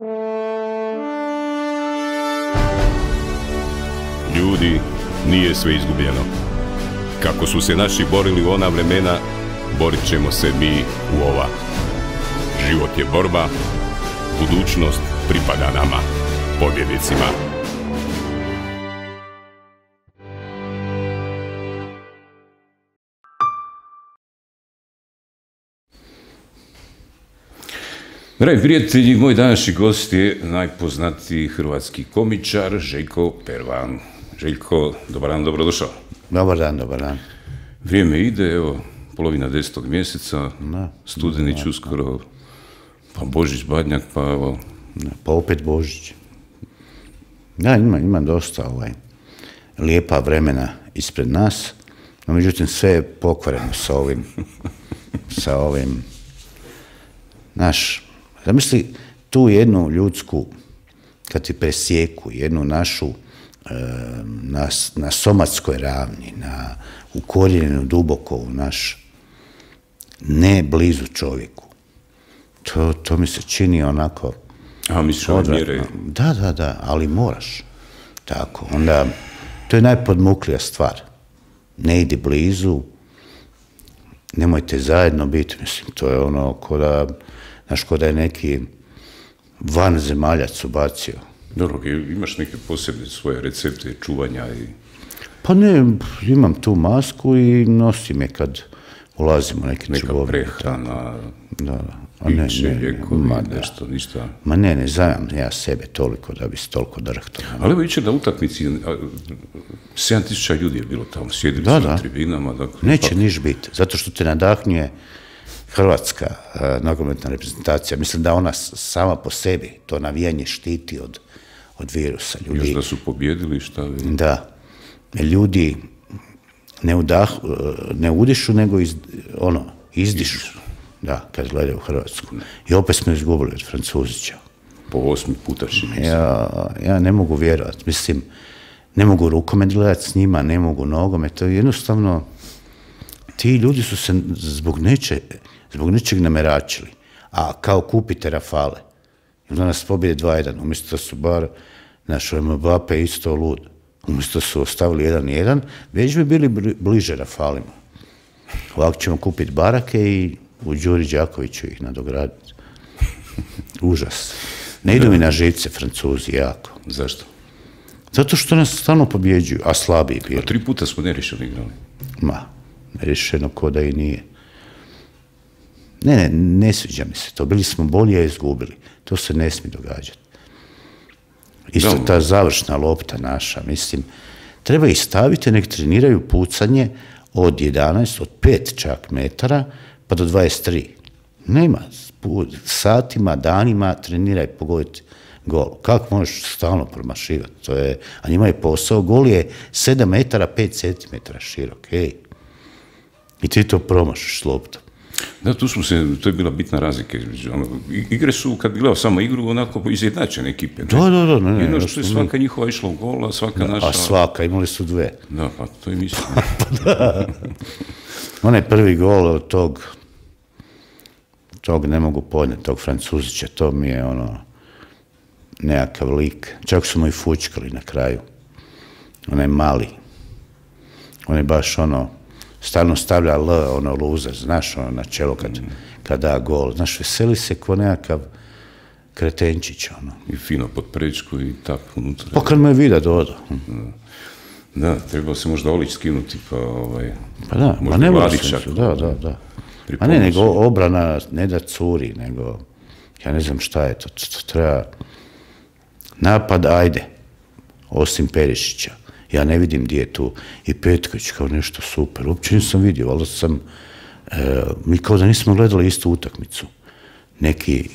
Ljudi, nije sve izgubljeno. Kako su se naši borili u ona vremena, borit ćemo se mi u ova. Život je borba, budućnost pripada nama, pobjednicima. Dragi prijatelji, moj današnji gost je najpoznatiji hrvatski komičar Željko Pervan. Željko, dobar dan, dobrodošao. Dobar dan, dobar dan. Vrijeme ide, evo, polovina 10. mjeseca, Studenić uskoro, pa Božić, Badnjak, pa evo... Pa opet Božić. Da, ima dosta lijepa vremena ispred nas, no međutim sve je pokvareno sa ovim, zamisli tu jednu ljudsku, kad ti presjeku, jednu našu na somatskoj ravni, ukorijenjenu duboko u naš, ne blizu čovjeku. To mi se čini onako... A, misliš ove mjere? Da, ali moraš. Tako, onda, to je najpodmuklija stvar. Ne idi blizu, nemojte zajedno biti, mislim, to je ono ko da je neki vanzemaljac ubacio. Dobro, imaš neke posebne svoje recepte čuvanja i... Pa ne, imam tu masku i nosim je kad ulazimo u neke trgovine. Neka prehrana, piće, lijekovi, nešto, ništa. Ma ne zajam ja sebe toliko da bi se toliko drhtao. Ali evo jučer na utakmici 7.000 ljudi je bilo tamo, sjedili su na tribinama. Neće niš biti, zato što te nadahnjuje hrvatska nogometna reprezentacija. Mislim da ona sama po sebi to navijanje štiti od virusa. Još da su pobjedili, šta vi? Da. Ljudi ne udišu, nego izdišu. Da, kad gledaju Hrvatsku. I opet smo izgubili od Francuzića. Po 8. puta čini se. Ja ne mogu vjerovati. Mislim, ne mogu rukomet gledati s njima, ne mogu nogomet. To je jednostavno, ti ljudi su se zbog nečeg nameračili. A kao kupite Rafale. I onda nas pobjede 2-1. Umjesto da su bar naš Mbappe isto lud. Umjesto da su ostavili 1-1, već bi bili bliže Rafalima. Ovako ćemo kupiti barake i u Đuri Đakoviću ih nadograditi. Užas. Ne idu mi na živce Francuzi jako. Zašto? Zato što nas stalno pobjeđuju, a slabiji bili. A 3 puta smo nerešeno igrali. Nerešeno ko da i nije. Ne sviđa mi se to. Bili smo bolji, a izgubili. To se ne smije događati. Isto ta završna lopta naša, mislim, treba ih staviti, nek treniraju pucanje od 11, od 5 čak metara, pa do 23. Nema, satima, danima treniraj pogoditi gol. Kako možeš stalno promašivati? A njima je posao, gol je 7 metara, 5 centimetara širok, I ti to promašiš s loptom. Da, to je bila bitna razlika. Igre su, kad bi gledao samo igru, onako izjednačene ekipe. Da. Jedno što je svaka njihova išla u gol, a svaka naša... A svaka, imali su 2. Da, pa to je mislim. Onaj prvi gol od tog ne mogu podnijeti, tog Francuzića, to mi je nekakav lik. Čak su mu i fučkali na kraju. Onaj mali. On je baš stalno stavlja luzer, znaš, na čelo kad da gol. Znaš, veseli se ko nekakav kretenčić, I fino pod prečku i tak unutra. Pa kad me je vida dodo. Da, trebao se možda Olić skinuti, pa da, pa ne mora se, da. A ne, nego obrana ne da curi, nego, ja ne znam šta je to treba, napad, ajde, osim Perišića. Ja ne vidim gdje je tu i Petković kao nešto super. Uopće nisam vidio, ali mi kao da nismo gledali istu utakmicu. Neki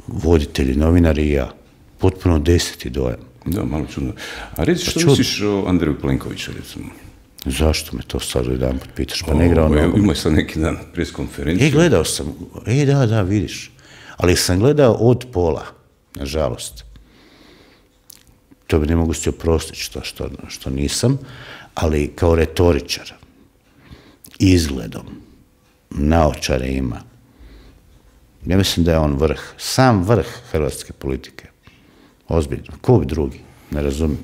voditelji, novinari i ja. Potpuno 10. dojam. Da, malo čudno. A reci što misliš o Andreju Plenkoviću, recimo? Zašto me to sad jedan put pitaš? Pa ne igrao nogomet. Imao sam neki dan pres konferenciju. Gledao sam. Da, vidiš. Ali sam gledao od pola, nažalost. To bi ne mogu si oprostiti što nisam, ali kao retoričar, izgledom, naočare ima, Ja mislim da je on vrh, sam vrh hrvatske politike. Ozbiljno. Ko bi drugi? Ne razumijem.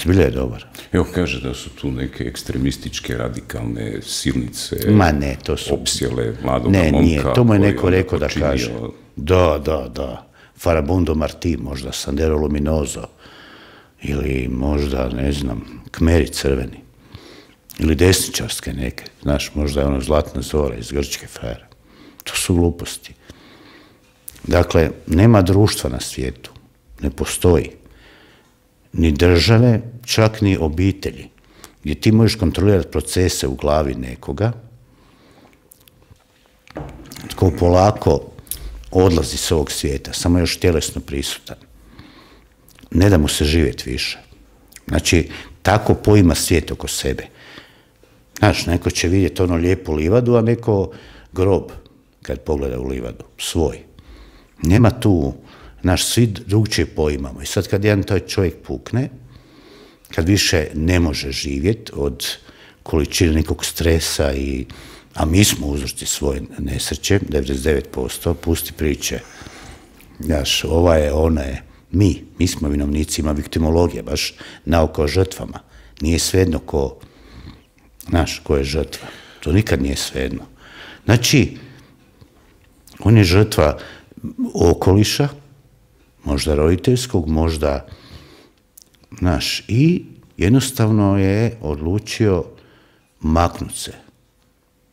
Zbilja je dobar. Evo kaže da su tu neke ekstremističke, radikalne silnice. Ma ne, to su... Opsjele mladoga momka. Ne, nije, to mu je neko rekao da kaže. Da. Farabundo Marti, možda Sandero Luminoso, ili možda, ne znam, Kmeri crveni, ili desničarske neke, znaš, možda je ono Zlatna zora iz Grčke frajera. To su gluposti. Dakle, nema društva na svijetu, ne postoji. Ni države, čak ni obitelji, gdje ti možeš kontrolirati procese u glavi nekoga, tko polako odlazi s ovog svijeta, samo još tjelesno prisutan. Ne da mu se živjeti više. Znači, tako poima svijet oko sebe. Znaš, neko će vidjeti ono lijepu livadu, a neko grob kad pogleda u livadu, svoj. Nema tu, znaš, svi drugčije poimamo. I sad kad jedan taj čovjek pukne, kad više ne može živjeti od količine nekog stresa a mi smo uzročni svoje nesreće, 99%, pusti priče. Znaš, ova je, ona je, mi smo vinovnici, ima viktimologija, baš nauka o žrtvama. Nije svejedno ko je žrtva. To nikad nije svejedno. Znači, on je žrtva okoliša, možda roditeljskog, možda, znaš, i jednostavno je odlučio maknut se.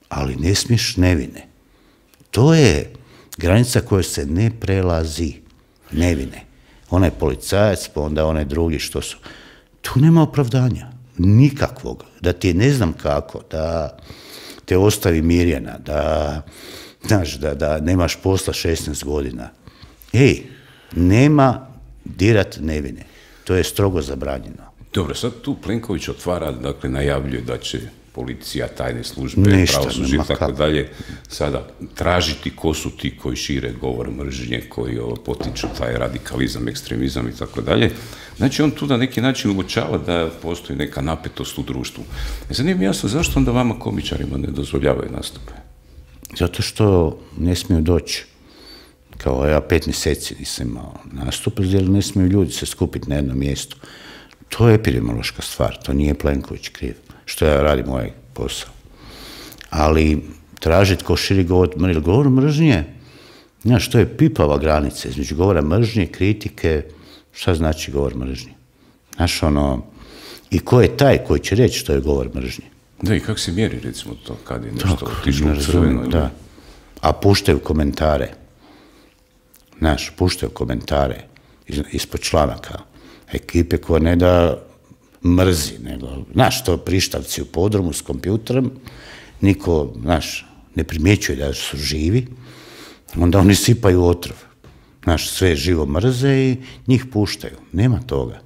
Ali ne smiješ nevine. To je granica koja se ne prelazi. Nevine. Onaj policajac, pa onda onaj drugi što su. Tu nema opravdanja. Nikakvog. Da ti ne znam kako, da te ostavi Mirjana, da nemaš posla 16 godina. Nema dirat nevine. To je strogo zabranjeno. Dobro, sad tu Plenković otvara, dakle, najavljuje da će policija, tajne službe, pravosuđe i tako dalje, sada tražiti ko su ti koji šire govor mržnje, koji potiču taj radikalizam, ekstremizam i tako dalje. Znači, on tu na neki način uočava da postoji neka napetost u društvu. Sad nije mi jasno zašto onda vama komičarima ne dozvoljavaju nastupe? Zato što ne smiju doći. Kao ja 5 mjeseci nisam imao nastup, jer ne smiju ljudi se skupiti na jednom mjestu. To je epidemiološka stvar, to nije Plenković kriv, što ja radim ovaj posao. Ali tražiti ko širi govor mržnje, znaš, to je pipava granica između govora mržnje, kritike, šta znači govor mržnje? Znaš, i ko je taj koji će reći što je govor mržnje? Da, i kako se mjeri, recimo, to, kad je nešto otišlo u crveno? Da, a puštaju komentare. Znaš, puštaju komentare ispod članaka ekipe koja ne da mrzi, nego, znaš, to prištavci u podrumu s kompjuterom, niko, znaš, ne primjećuje da su živi, onda oni sipaju otrov. Znaš, sve živo mrze i njih puštaju. Nema toga.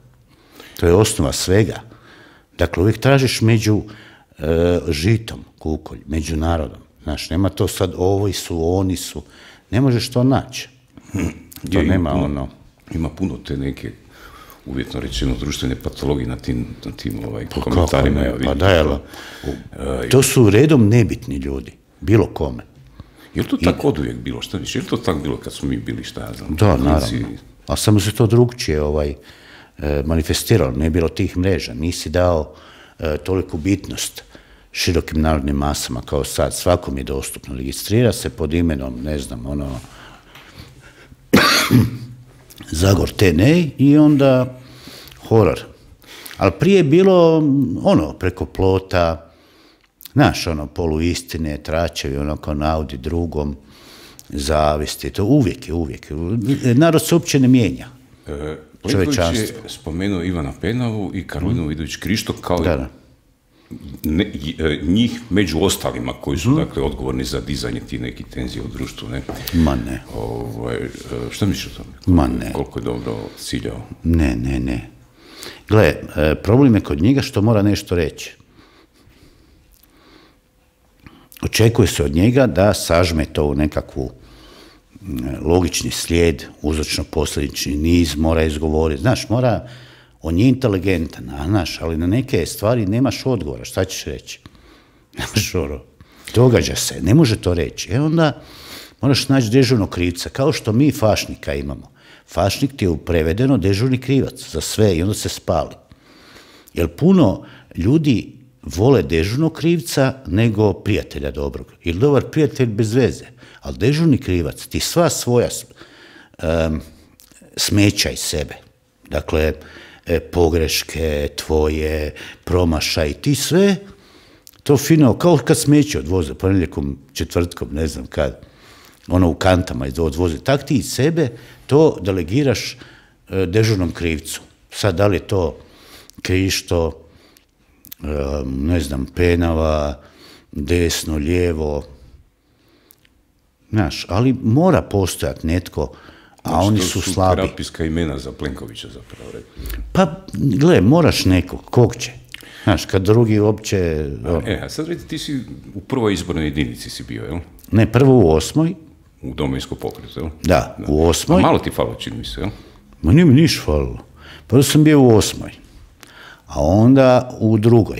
To je osnova svega. Dakle, uvijek tražiš među žitom, kukolj, među narodom. Znaš, nema to sad ovi su, oni su. Ne možeš to naći. To nema Ima puno te neke, uvjetno rečeno, društvene patologije na tim komentarima. To su redom nebitni ljudi, bilo kome. Je li to tako od uvijek bilo, šta više? Je li to tako bilo kad smo mi bili, šta ja znam? Da, naravno. A samo se to drugčije manifestiralo, ne je bilo tih mreža. Nisi dao toliku bitnost širokim narodnim masama kao sad. Svakom je dostupno. Registrira se pod imenom, ne znam, Zagor TNA i onda horor. Ali prije je bilo preko plota, znaš, poluistine, tračevi, kao naudi drugom, zavisti, to uvijek. Narod se uopće ne mijenja. Plenković je spomenuo Ivana Penavu i Karolinu Vidović Krišto kao njih među ostalima koji su dakle odgovorni za dizanje ti neki tenzije u društvu, ne? Ma ne. Šta misliš o tome? Ma ne. Koliko je dobro ciljao? Ne. Gle, problem je kod njega što mora nešto reći. Očekuje se od njega da sažme to u nekakvu logični slijed, uzročno-posljedični niz, mora izgovoriti. Znaš, on je inteligentan, znaš, ali na neke stvari nemaš odgovora. Šta ćeš reći? Nemaš događa se, ne može to reći. Onda moraš naći dežurnog krivca, kao što mi fašnika imamo. Fašnik ti je prevedeno dežurni krivac za sve i onda se spali. Jer puno ljudi vole dežurnog krivca nego prijatelja dobrog. Jer dobar prijatelj bez veze, ali dežurni krivac ti sva svoja smeća iz sebe, dakle, pogreške tvoje, promašaj, ti sve to fino, kao kad smeće odvoze, ponedjeljkom, četvrtkom, ne znam kad, ono u kantama odvoze, tak ti iz sebe to delegiraš dežurnom krivcu. Sad, da li je to Krišto, ne znam, Penava, desno, lijevo, znaš, ali mora postojati netko, a oni su slabi. To su terapijska imena za Plenkovića zapravo. Pa, gle, moraš nekog, kog će? Znaš, kad drugi uopće... A sad vidite, ti si u prvoj izbornoj jedinici si bio, jel? Ne, prvo u 8. U Domovinskom pokretu, jel? Da, u 8. A malo ti falo, čini mi se, jel? Ma nije mi niš falilo. Prvo sam bio u 8. A onda u 2.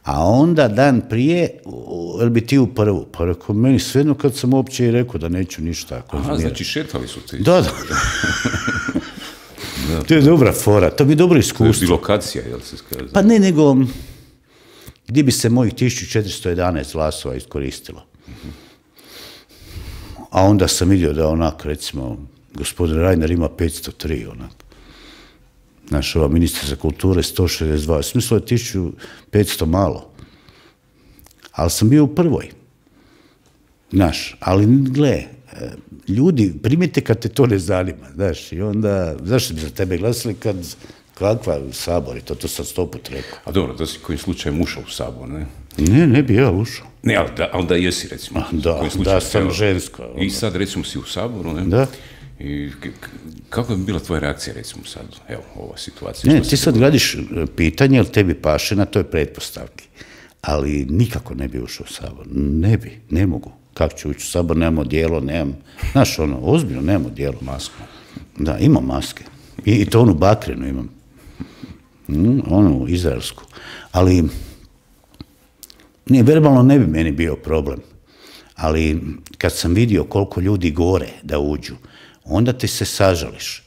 A onda dan prije, jel bi ti u 1. Pa rekao, meni svejedno kad sam uopće i rekao da neću ništa. Aha, znači šetali su ti. Da. To je dobra fora, to bi dobro iskustvo. To je lokacija, jel se skaže? Pa ne, nego gdje bi se mojih 1411 glasova iskoristilo. A onda sam vidio da onak, recimo, gospodin Reiner ima 503, onak. Naš ova ministra kulture 162, smislo je 1500 malo. Ali sam bio u 1. Znaš, ali gle, ljudi, primite kad te to ne zanima, znaš, i onda, zašto bi za tebe glasili kad, kakva Sabor, i to sam 100 put rekao. A dobro, da si kojim slučajem ušao u Sabor, ne? Ne bi ja ušao. Ne, ali da jesi, recimo. Da sam žensko. I sad, recimo, si u Saboru, ne? Da. I kako bi bila tvoja reakcija, recimo, sad, evo, ova situacija? Ne, ti sad gradiš pitanje, jel tebi paše na toj pretpostavki, ali nikako ne bi ušao u Sabor. Ne bi, ne mogu. Kako ću ući u Sabor, nemamo dijelo, nemam, znaš, ono, ozbiljno, nemamo dijelo. Masku. Da, imam maske. I to onu bakrenu imam. Onu izraelsku. Ali, ne, verbalno ne bi meni bio problem. Ali, kad sam vidio koliko ljudi gore da uđu, onda ti se sažališ.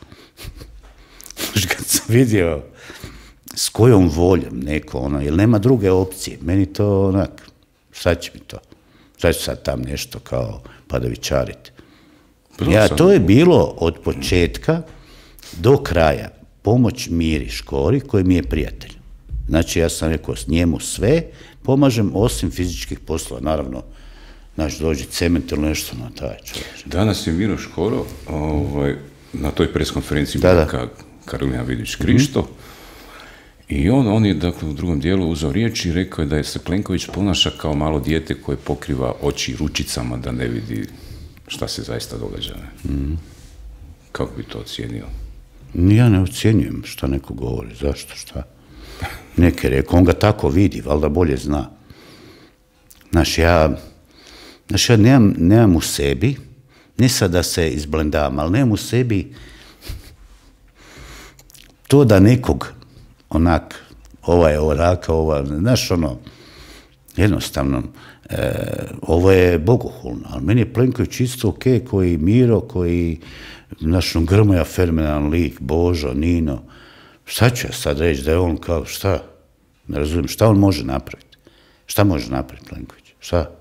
Kad sam vidio s kojom voljom neko, ono, jer nema druge opcije. Meni to, onak, sad će mi to. Sad ću sad tam nešto kao padavičariti. Ja, to je bilo od početka do kraja pomoć Miri Škori, koji mi je prijatelj. Znači, ja sam rekao s njemu sve, pomažem osim fizičkih poslova, naravno, znaš, dođi cement ili nešto na taj čovječ. Danas je Miro Škoro na toj preskonferenciji Karolina Vidić-Krišto i on je, dakle, u drugom dijelu uzeo riječ i rekao je da je se Plenković ponaša kao malo dijete koje pokriva oči ručicama da ne vidi šta se zaista događa. Kako bi to ocijenio? Ja ne ocjenjujem šta neko govori, zašto, šta. Neke rekao, on ga tako vidi, valjda bolje zna. Znaš, ja nemam u sebi, ne sad da se izblendavam, ali nemam u sebi to da nekog onak, ova je oraka, ova, znaš, ono, jednostavno, ovo je bogohulno, ali meni je Plenković isto ok, koji Miro, koji, znaš, Grmoja, fenomenalan lik, Božo, Nino, šta ću ja sad reći, da je on kao, šta, ne razumijem, šta on može napraviti, šta može napraviti Plenković, šta?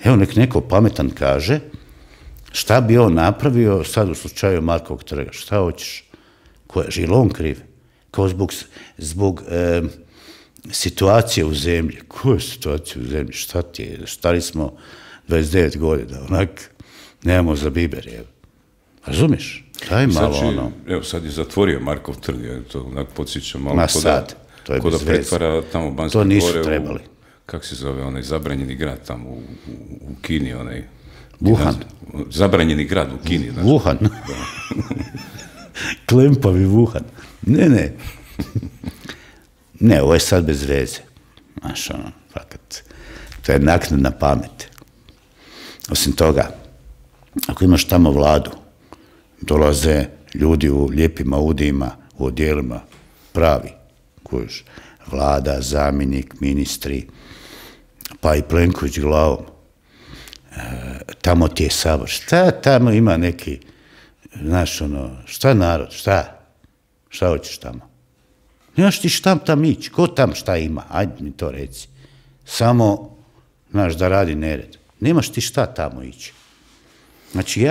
Evo, nek neko pametan kaže, šta bi on napravio sad u slučaju Markovog trga, šta hoćeš, je li on kriv? Kao zbog situacije u zemlji. Koja situacija u zemlji? Šta ti je? Stari smo 29 godina, onak, nemamo za biber, evo. Razumiješ? Daj malo ono. Evo, sad je zatvorio Markov trg, to onak podsjeća malo. Ma sad, to je bez veze. Ko da pretvara tamo Banske Gore. To nisu trebali. Kako se zove, onaj zabranjeni grad tamo u Kini, onaj... Wuhan. Zabranjeni grad u Kini. Wuhan. Klempavi Wuhan. Ne. Ne, ovo je sad bez veze. Znaš, ono, fakat, to je naknadna pamet. Osim toga, ako imaš tamo vladu, dolaze ljudi u lijepim audijima, u odjelima, pravi, kojiš, vlada, zamjenik, ministri, pa i Plenković glavom. tamo ti je sabor. Šta tamo ima neki, znaš, ono, šta narod, šta hoćeš tamo? Nemaš ti šta tam ići, ko tam šta ima, ajde mi to reci. Samo, znaš, da radi nered. Nemaš ti šta tamo ići. Znači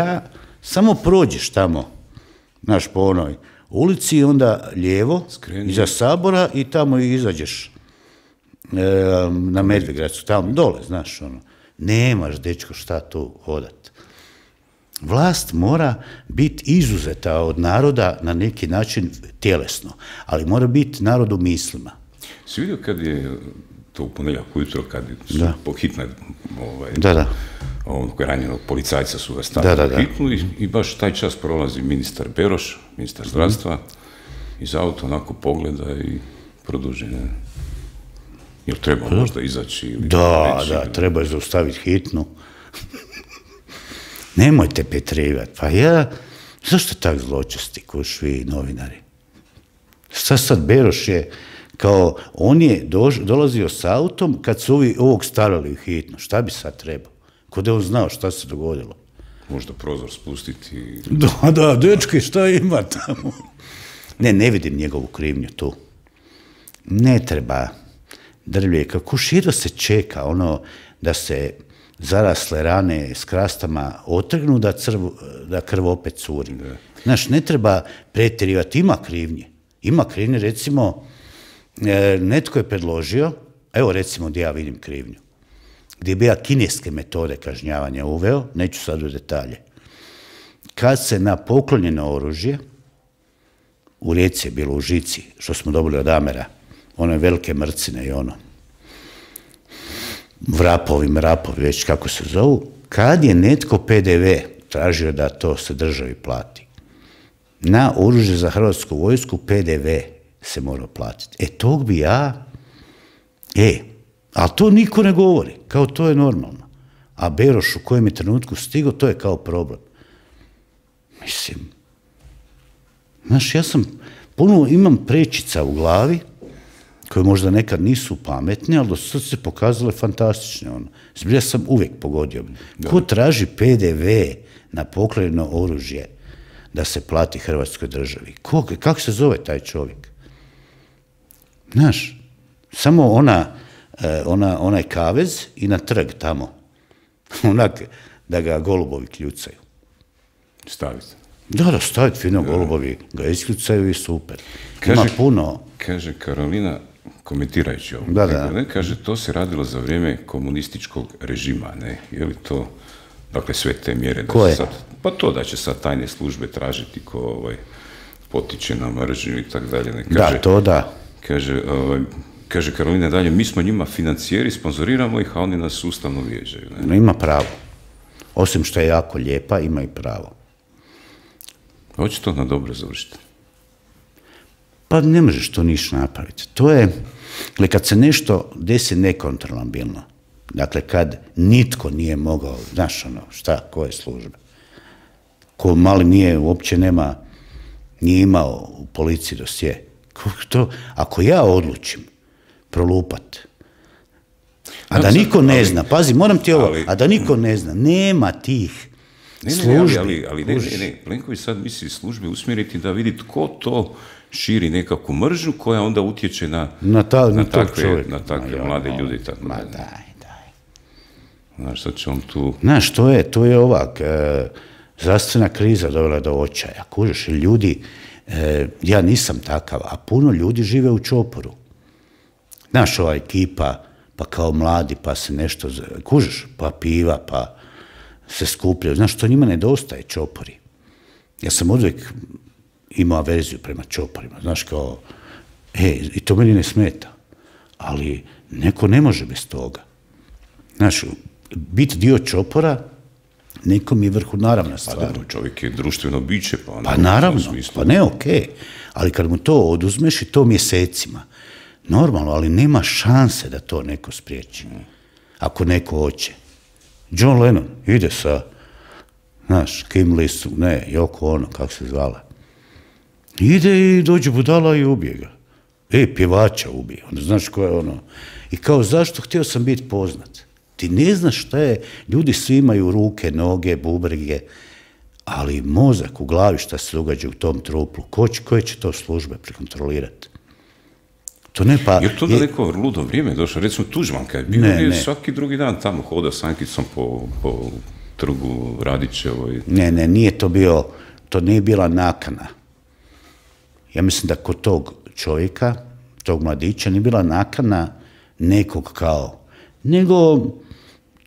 samo prođeš tamo, znaš, po onoj ulici i onda lijevo, iza sabora i tamo izađeš na Medvedgradsku, tamo dole, znaš, ono. Nemaš, dečko, šta tu hodat. Vlast mora biti izuzeta od naroda na neki način tjelesno, ali mora biti narod u mislima. Si vidio kad je to u ponedjeljak ujutro, kad su po hitnoj ranjenog policajca su ga stavili u hitnu i baš taj čas prolazi ministar Beroš, ministar zdravstva, iz auta onako pogleda i produži. Jel treba možda izaći? Da, treba je zaustaviti hitnu. Nemojte petrivati. Pa zašto tak zločesti ko vi novinari? Šta sad Beroš je, kao on je dolazio s autom kad su ovog stavili u hitnu. Šta bi sad trebao? Ko da on znao šta se dogodilo? Možda prozor spustiti. Da, dečki, šta ima tamo? Ne vidim njegovu krivnju tu. Ne treba drvlje. Kako širo se čeka ono da se zarasle rane s krastama otrgnu, da krv opet curi. Znaš, ne treba pretjerivati, ima krivnje. Ima krivnje, recimo, netko je predložio, evo recimo gdje ja vidim krivnju, gdje bi ja kineske metode kažnjavanja uveo, neću sad u detalje. Kad se na poklonjeno oružje, u Rijeci je bilo u žici, što smo dobili od Amera, one velike mrcine i ono, vrapovi, već kako se zovu, kad je netko PDV tražio da to se državi plati, na oružje za Hrvatsku vojsku PDV se mora platiti. Tog bi ja, ali to niko ne govori, kao to je normalno. A Beroš u kojem je trenutku stigao, to je kao problem. Mislim, znaš, ja imam prečica u glavi, koje možda nekad nisu pametne, ali do sad se pokazale fantastične. Zbilja sam uvijek pogodio. Ko traži PDV na poklonjeno oružje da se plati Hrvatskoj državi? Kako se zove taj čovjek? Znaš, samo onaj kavez i na trg tamo. Onak da ga golubovi kljucaju. Staviti. Da, staviti fino golubovi ga iskljucaju i super. Ima puno. Kaže Karolina, komentirajući ovo, kaže, to se radilo za vrijeme komunističkog režima, ne? Je li to, dakle, sve te mjere da Koje? se sad, pa to da će sad tajne službe tražiti ko potiče na mržnju i tako dalje, ne? Kaže, da, to da. Kaže Karolina dalje, mi smo njima financijeri, sponzoriramo ih, a oni nas sustavno vrijeđaju, ne? Ima pravo. Osim što je jako lijepa, ima i pravo. Hoće to na dobro završiti? Pa ne možeš to ništa napraviti. To je, kad se nešto desi nekontrolabilno, dakle kad nitko nije mogao, znaš ono, koje službe, ko mali nije, uopće nije imao u policiji dosje. Ako ja odlučim prolupat, a da niko ne zna, pazi, moram ti ovo, a da niko ne zna, nema tih službi. Ali ne, Plenković sad misli službe usmjeriti da vidi tko to širi nekakvu mržnju koja onda utječe na takve mlade ljude. Ma daj. Znaš, sad će on tu... Znaš, to je ovak, zdravstvena kriza dovela do očaja. Kužiš, ljudi, ja nisam takav, a puno ljudi žive u čoporu. Znaš, ova ekipa, pa kao mladi, pa se nešto, kužiš, pa piva, pa se skupljaju. Znaš, to njima nedostaje, čopori. Ja sam uvijek imao averziju prema čoporima. Znaš, kao, i to meni ne smeta. Ali neko ne može bez toga. Znaš, biti dio čopora, nekom je naravna stvar. Pa dobro, čovjek je društveno biće, pa naravno, pa ne, okej. Ali kad mu to oduzmeš i to mjesecima, normalno, ali nema šanse da to neko spriječi. Ako neko hoće. John Lennon ide sa, znaš, Kim Lisu, Yoko Ono, kako se zvala. Ide i dođe budala i ubije ga. Pjevača ubije. Onda znaš ko je ono. I kao, zašto htio sam biti poznat? Ti ne znaš šta je, ljudi svi imaju ruke, noge, bubrege, ali mozak u glavi šta se događa u tom truplu, koje će to službe prekontrolirati? To ne pa... Jer to da neko ludo vrijeme došlo, recimo Tuđman kad je bio, svaki drugi dan tamo hoda s Ankicom po trgu Radićevoj. Ne, nije to bio, to nije bila nakana. Ja mislim da kod tog čovjeka, tog mladića, nije bila nakana nekog kao, nego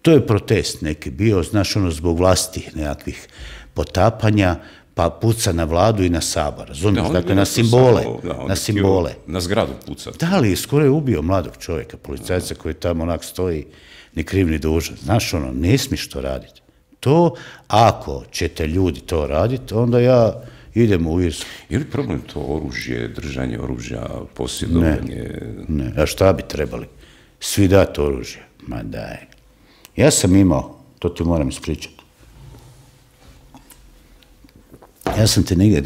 to je protest neki bio, znaš, ono, zbog vlastih nekakvih potapanja, pa puca na vladu i na Sabor, razumiješ, dakle, na simbole, na simbole. Na zgradu puca. Da li, skoro je ubio mladog čovjeka, policajca koji tamo onak stoji, ni kriv ni dužan. Znaš, ono, ne smiješ to raditi. To, ako ćete ljudi to raditi, onda ja idem u Irsku. Je li problem to oružje, držanje oružja, posjedovanje? Ne, a šta bi trebali? Svi dati oružje. Ma daj. Ja sam imao, to ti moram ispričati. Ja sam te negdje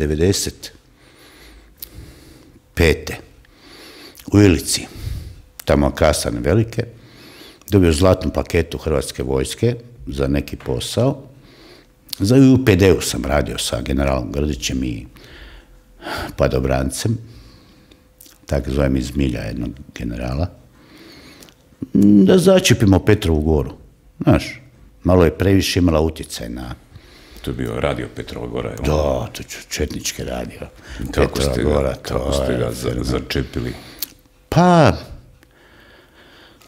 95. u Ilici, tamo kasane velike, dobio zlatnu paketu Hrvatske vojske za neki posao. Za UPD-u sam radio sa generalom Grdićem i padobrancem, tako zovem iz milja jednog generala, da začepimo Petrovu goru. Znaš, malo je previše imala utjecaj na... To je bio radio Petrova gora. Da, to je četnički radio. Kako ste ga začepili? Pa,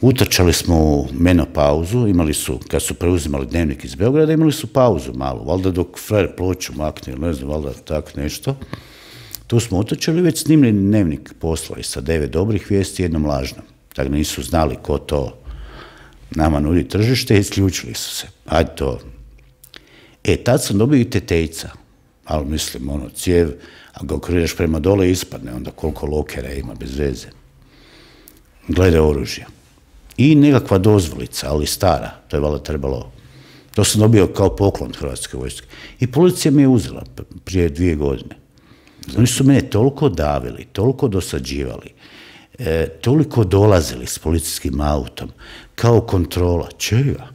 utrčali smo u menopauzu, imali su, kad su preuzimali Dnevnik iz Beograda, imali su pauzu malu, valjda dok frajer ploču makne, ne znam, valjda tak nešto. Tu smo utrčali, već snimili Dnevnik poslali sa 9 dobrih vijesti i jednom lažnom. Tako nisu znali ko to nama nudi tržište i isključili su se. Ajde to. Tad sam dobio i tetejca, ali mislim, ono, cijev, a ga okreneš prema dole ispadne, onda koliko lokera ima bez veze. Glede oružja. I nekakva dozvolica, ali stara, to je valjda trebalo, to sam dobio kao poklon Hrvatske vojske. I policija mi je uzela prije 2 godine. Oni su mene toliko davili, toliko dosađivali, toliko dolazili s policijskim autom, kao kontrola. Čega?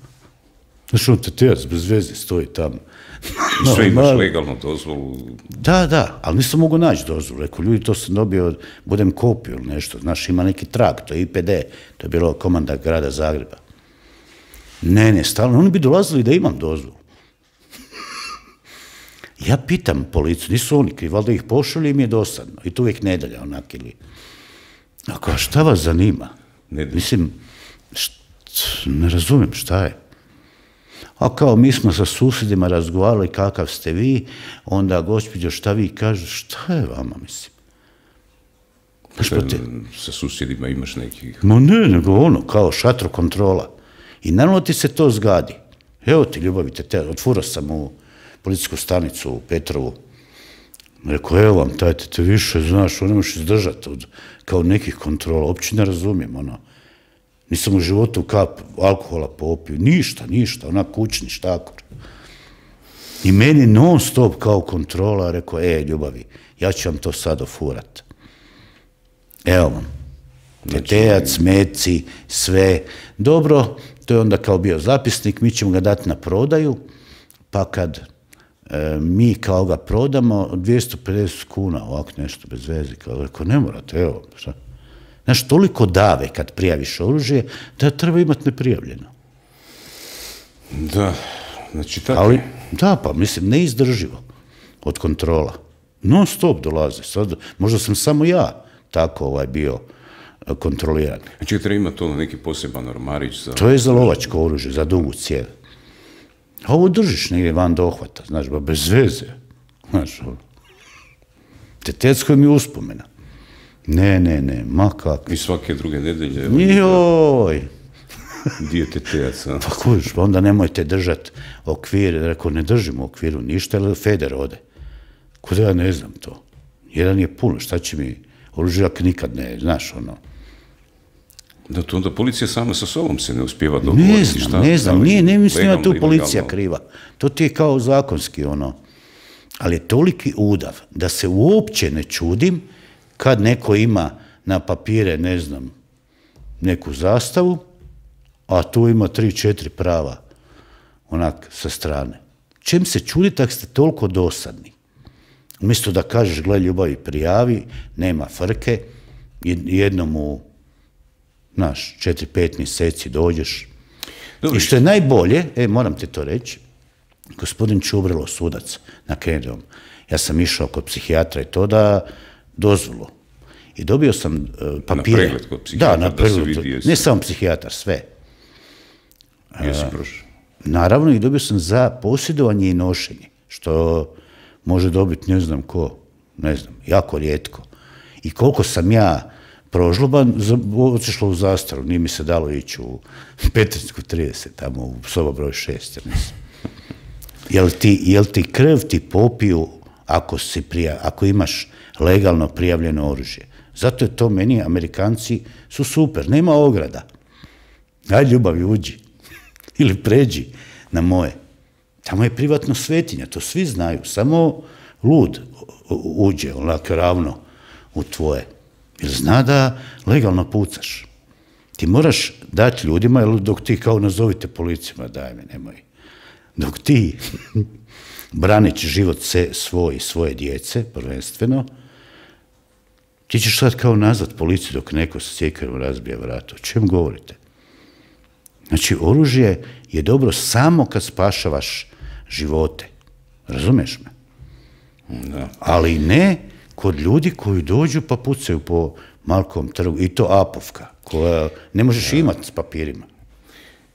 Znaš, on tetejac bez veze stoji tamo. Sve imaš legalnu dozvolu? Da, ali nisam mogu naći dozvolu. Rekao, ljudi, to sam dobio, budem kopiju ili nešto. Znaš, ima neki trag, to je IPD, to je bilo komanda grada Zagreba. Ne, stalno, oni bi dolazili da imam dozvolu. Ja pitam policiju, nisu oni krivi, valjda ih pošalju i mi je dosadno. I to uvijek nedelja, onak ili... Ako, šta vas zanima? Mislim, ne razumijem šta je. A kao mi smo sa susjedima razgovarali kakav ste vi, onda gospođo šta vi kažete, šta je vama, mislim? Sa susjedima imaš nekih... Ma ne, nego ono, kao šatro kontrola. I naravno ti se to zgadi. Evo ti, ljubavite, otvorao sam u policijsku stanicu u Petrovu. Rekao, evo vam, tajte te više, znaš, ne možeš izdržati kao nekih kontrola. Uopće ne razumijem, ono. Nisam u životu kap alkohola popio, ništa, onak kućni štakor. I meni non stop kao kontrola rekao, ljubavi, ja ću vam to sad ofurat. Evo vam, tetejac, meci, sve. Dobro, to je onda kao bio zapisnik, mi ćemo ga dati na prodaju, pa kad mi kao ga prodamo, 250 kuna, ovako nešto bez veze, kao rekao, ne morate, evo, šta? Znaš, toliko dave kad prijaviš oružje, da treba imati neprijavljeno. Da, znači tako. Ali, da, pa mislim, neizdrživo od kontrola. Non stop dolaze. Sad, možda sam samo ja tako bio kontroliran. Znači, treba imati to neki poseban ormarić za... To je za lovačko oružje, za dugu cijev. A ovo držiš negdje van dohvata, znaš, ba bez veze. Znaš, tetecko mi je uspomena. Ne, ma kako. I svake druge nedelje... Joj! Dijetetejac, a? Pa kojiš, onda nemojte držati okvir. Rekao, ne držim u okviru ništa, ali Feder ode. Kod ja ne znam to. Jedan je puno, šta će mi oružjak nikad ne, znaš, ono. Da, to onda policija sama sa sobom se ne uspijeva dogovoriti. Ne znam, ne mislim da tu policija kriva. To ti je kao zakonski, ono. Ali je toliki udav da se uopće ne čudim kad neko ima na papire, ne znam, neku zastavu, a tu ima 3-4 prava, onak, sa strane. Čem se čudite ako ste toliko dosadni? Umjesto da kažeš, gle ljubavi, prijavi, nema frke, jednom u, 4-5 mjeseci dođeš. I što je najbolje, moram ti to reći, gospodin Čubrilo, sudac na Kennedom, ja sam išao kod psihijatra i to da dozvolu. I dobio sam papire. Na pregled kod psihijatra? Da, na pregled. Ne samo psihijatar, sve. Jesi prošao? Naravno, i dobio sam za posjedovanje i nošenje, što može dobiti ne znam ko, jako rijetko. I koliko sam ja prožloban, otišlo u zastaru, nije mi se dalo ići u Petrinjsku 30, tamo u soba broj 6, mislim. Jel ti krv ti popiju ako imaš legalno prijavljeno oružje? Zato je to meni, Amerikanci su super, nema ograda. Ajde ljubavi, uđi. Ili pređi na moje. Tamo je privatno svetinja, to svi znaju, samo lud uđe onako ravno u tvoje. Jer zna da legalno pucaš. Ti moraš dati ljudima, jer dok ti kao nazovite policijama, daj me, nemoj. Dok ti braniš život svoj i svoje djece, prvenstveno, ti ćeš sad kao nazvat policiju dok neko sa sjekarom razbija vrata. O čem govorite? Znači, oružje je dobro samo kad spašavaš živote. Razumeš me? Da. Ali ne kod ljudi koji dođu pa pucaju po Markovom trgu. I to apovka, koja ne možeš imati s papirima.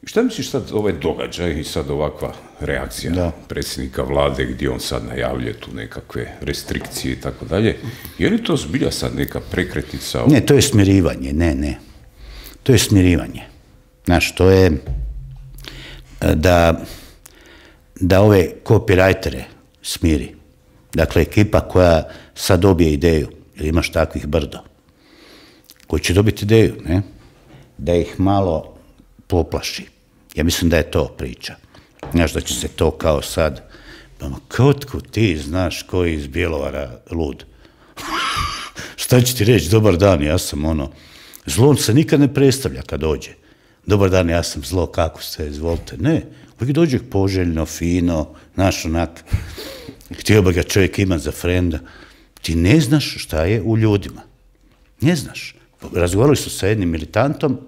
Šta misliš sad ovaj događaj i sad ovakva reakcija predsjednika vlade gdje on sad najavljuje tu nekakve restrikcije i tako dalje? Je li to zbilja sad neka prekretnica? Ne, to je smirivanje, ne. To je smirivanje. Znaš, to je da ove copywritere smiri. Dakle, ekipa koja sad dobije ideju, jer imaš takvih brdo, koji će dobiti ideju, ne? Da ih malo poplaši. Ja mislim da je to priča. Znaš, da će se to kao sad, kotku ti znaš koji iz Bjelovara lud. Šta će ti reći, dobar dan, ja sam zlo se nikad ne predstavlja kad dođe. Dobar dan, ja sam zlo, kako ste, izvolite. Ne, uvijek dođe poželjno, fino, znaš, onak, htio bi ga čovjek imati za frenda. Ti ne znaš šta je u ljudima. Ne znaš. Razgovarali su sa jednim militantom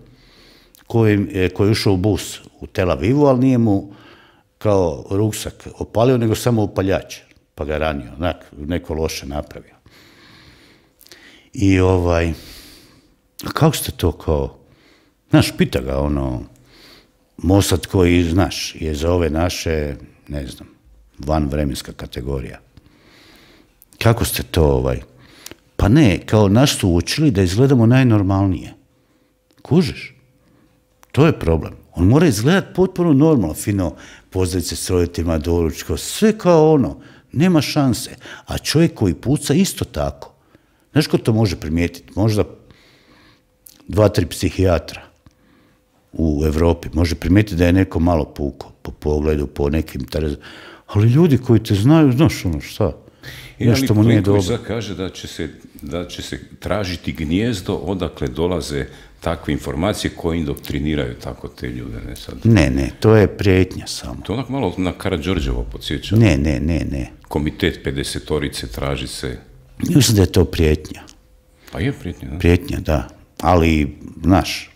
koji je ušao u bus u Tel Avivu, ali nije mu kao ruksak opalio, nego samo upaljač, pa ga ranio, neko loše napravio. I a kako ste to kao, znaš, pita ga Mossad koji, znaš, je za ove naše, ne znam, vanvremenska kategorija. Kako ste to, Pa ne, kao nas su učili da izgledamo najnormalnije. Kužiš? To je problem. On mora izgledati potpuno normalno, fino, pozdraviti se s roditeljima, doručko, sve kao nema šanse. A čovjek koji puca isto tako. Znaš ko to može primijetiti? Možda 2-3 psihijatra u Europi može primijetiti da je neko malo puko po pogledu, po nekim terezama. Ali ljudi koji te znaju, znaš šta? Nešto mu nije dobro. Sad kaže da će se tražiti gnijezdo odakle dolaze takve informacije koje indoktriniraju tako te ljude. Ne, to je prijetnja samo. To onak malo na Karađorđevo podsjeća. Ne. Komitet 50-torice traži se. Mislim da je to prijetnja. Pa je prijetnja, da. Prijetnja, da. Ali, znaš,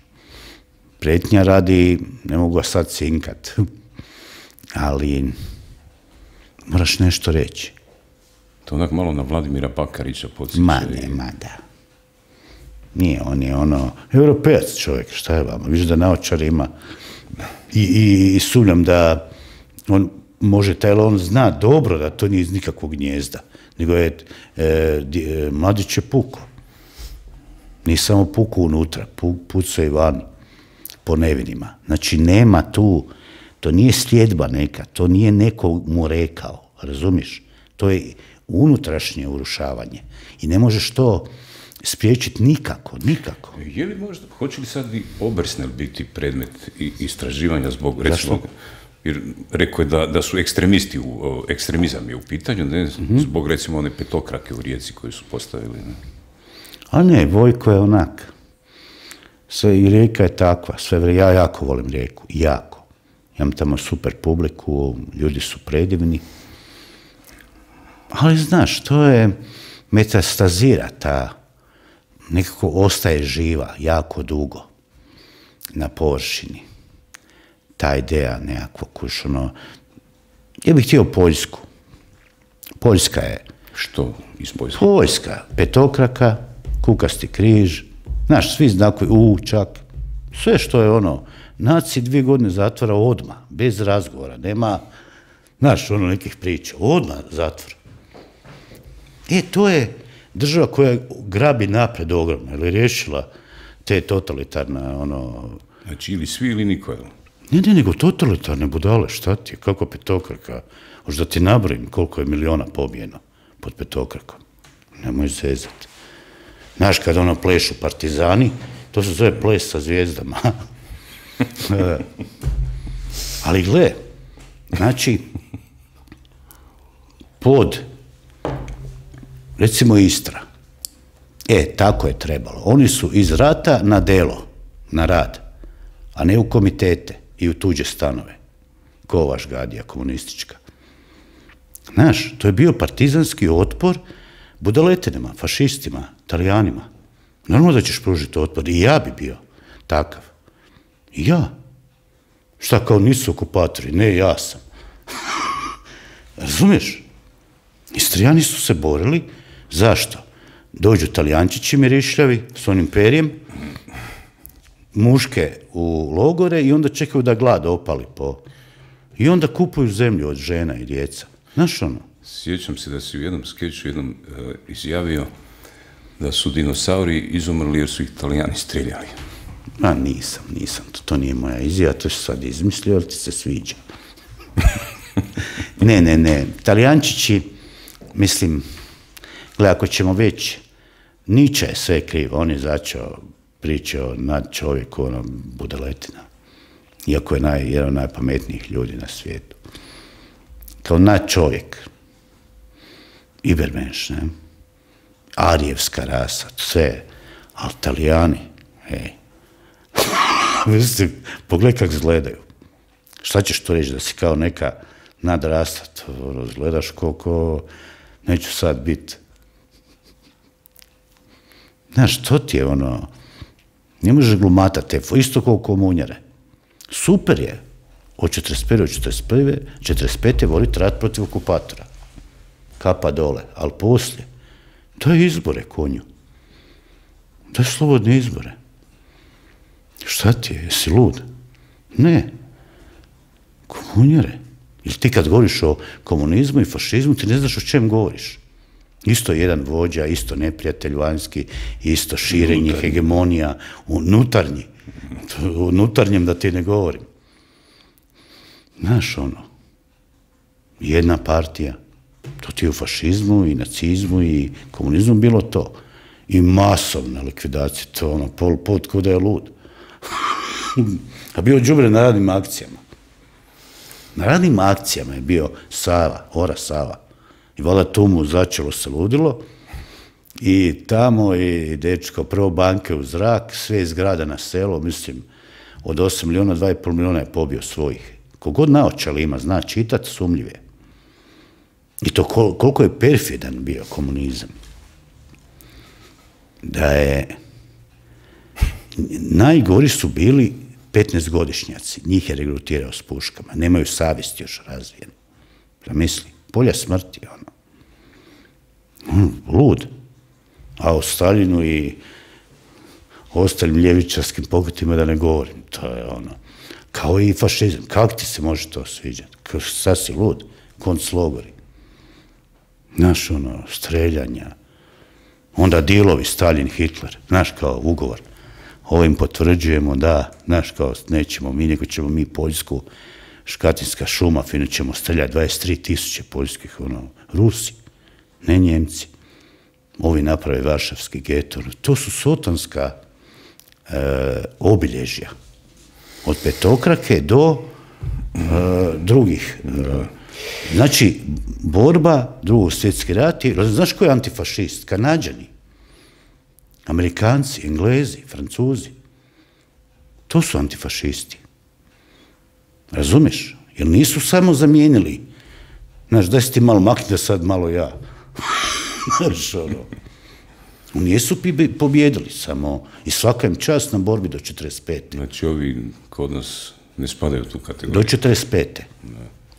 prijetnja radi, ne mogu ga sad cinkat, ali moraš nešto reći. To onak malo na Vladimira Bakarića podsjeća. Ma da. Nije, on je europejac čovjek, šta je vama? Viš da naočar ima i sumnjam da on može, on zna dobro da to nije iz nikakvog gnjezda, nego je mladić je puko. Nije samo puko unutra, pucao i vani, po nevinima. Znači nema tu, to nije sljedba neka, to nije neko mu rekao, razumiješ? To je unutrašnje urušavanje i ne možeš to spriječiti nikako. Je li možda, hoće li sad i Obersnel biti predmet istraživanja zbog, recimo, jer rekao je da su ekstremizam je u pitanju, ne, zbog recimo one petokrake u Rijeci koju su postavili. Ne? A ne, Vojko je onak, Sve, i Rijeka je takva, ja jako volim Rijeku, jako. Imam tamo super publiku, ljudi su predivni. Ali znaš, to je metastazira, nekako ostaje živa jako dugo na površini. Ta ideja nekakvog, ja bih htio Poljsku. Poljska je... Što iz Poljske? Poljska, petokraka, kukasti križ, znaš, svi znakovi, čak, sve što je naci 2 godine zatvora odmah, bez razgovora, nema, znaš, nekih priča, odmah zatvor. To je država koja grabi napred ogromno, ili riješila te totalitarne, Znači, ili svi ili niko, jel? Ne, nego totalitarne budale, šta ti je, kako petokraka, možda ti nabrojim koliko je miliona pobijeno pod petokrakom, nemoj zezati. Znaš, kad plešu partizani, to se zove ples sa zvijezdama. Ali gle, znači, recimo Istra, tako je trebalo. Oni su iz rata na delo, na rad, a ne u komitete i u tuđe stanove. Kovaš gadija komunistička. Znaš, to je bio partizanski otpor budaletinima, fašistima, Talijanima. Normalno da ćeš pružiti otpor. I ja bi bio takav. I ja. Šta, kao nisu okupatori? Ne, ja sam. Razumiješ? Istrijani su se borili. Zašto? Dođu Talijančići mirišljavi s onim perjem, muške u logore i onda čekaju da glad opali i onda kupuju zemlju od žena i djeca. Znaš Sjećam se da si u jednom skeču izjavio da su dinosauri izumrli jer su ih Talijani streljali. Nisam. To nije moja izjava, to se sad izmislio, ali ti se sviđa. Ne. Talijančići, mislim, gledaj, ako ćemo već, Nietzsche je sve krivo, on je začeo priče o nadčovjeku, budaletina. Iako je jedan od najpametnijih ljudi na svijetu. Kao nadčovjek. Ibermenš, ne? Arijevska rasa, sve. Ali Talijani, pogledaj kako izgledaju. Šta ćeš to reći, da si kao neka nadrastat, gledaš koliko, neću sad biti. Znaš, to ti je ne može glumatati, isto kao komunjare. Super je od 41. do 45. voliti rat protiv okupatora. Kapa dole, ali poslije, daj izbore konju. Daj slobodne izbore. Šta ti je, jesi lud? Ne. Komunjare. Ili ti kad govoriš o komunizmu i fašizmu, ti ne znaš o čem govoriš. Isto jedan vođa, isto neprijatelj vanjski, isto širenje, hegemonija, unutarnji. O unutarnjem da ti ne govorim. Znaš jedna partija, to ti je u fašizmu i nacizmu i komunizmu bilo to. I masovna likvidacija, to Pol Pot ko da je lud. A bio đubre na radnim akcijama. Na radnim akcijama je bio Sava, Ora Sava. I valjda tu mu začelo se ludilo. I tamo je dečko prvo banke u zrak, sve zgrada na selo, mislim, od 8 miliona, 2,5 miliona je pobio svojih. Kogod naočali ima, zna čitat, sumljiv je. I to koliko je perfidan bio komunizam. Da je... Najgori su bili 15-godišnjaci, njih je regrutirao s puškama, nemaju savjest još razvijenu. Zamisli, polja smrti, lud. A o Staljinu i ostalim ljevičarskim pokretima da ne govorim, to je kao i fašizam, kako ti se može to sviđati? Sad si lud, konclogori. Znaš, streljanja, onda dilovi Stalin, Hitler, znaš, kao ugovor. Ovim potvrđujemo da, znaš, kao nećemo mi, nego ćemo mi Poljsku, Škatinska šuma, fino ćemo streljati 23.000 poljskih, Rusi, ne Njemci. Ovi naprave Varšavski geto. To su sotonska obilježja. Od petokrake do drugih. Znači, borba, Drugog svjetski rat, znaš ko je antifašist? Kanađani, Amerikanci, Englezi, Francuzi. To su antifašisti. Razumiješ? Jer nisu samo zamijenili. Znaš, daj si ti malo makni da sad malo ja. Znaš, ono. Nisu pobjedili samo i svaka im čast na borbi do 45. Znači ovi kod nas ne spadaju u tu kategoriju. Do 45.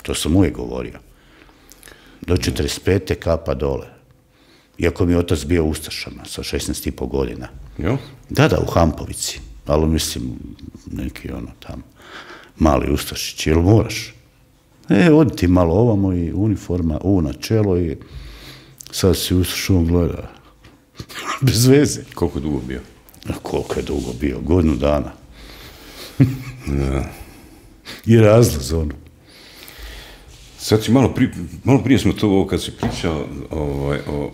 To sam uvijek govorio. Do 45. kapa dole. Iako mi je otac bio u Ustašama sa 16,5 godina. Jo? Da, u Hampovici. Ali mislim, neki ono tamo, mali Ustašić. Jel moraš? Odi ti malo ovamo i uniforma, na čelo i sad si Ustašom gleda. Bez veze. Koliko je dugo bio? Koliko je dugo bio? Godinu dana. I razlaz ono. Sad si malo prije smo to ovo kad si pričao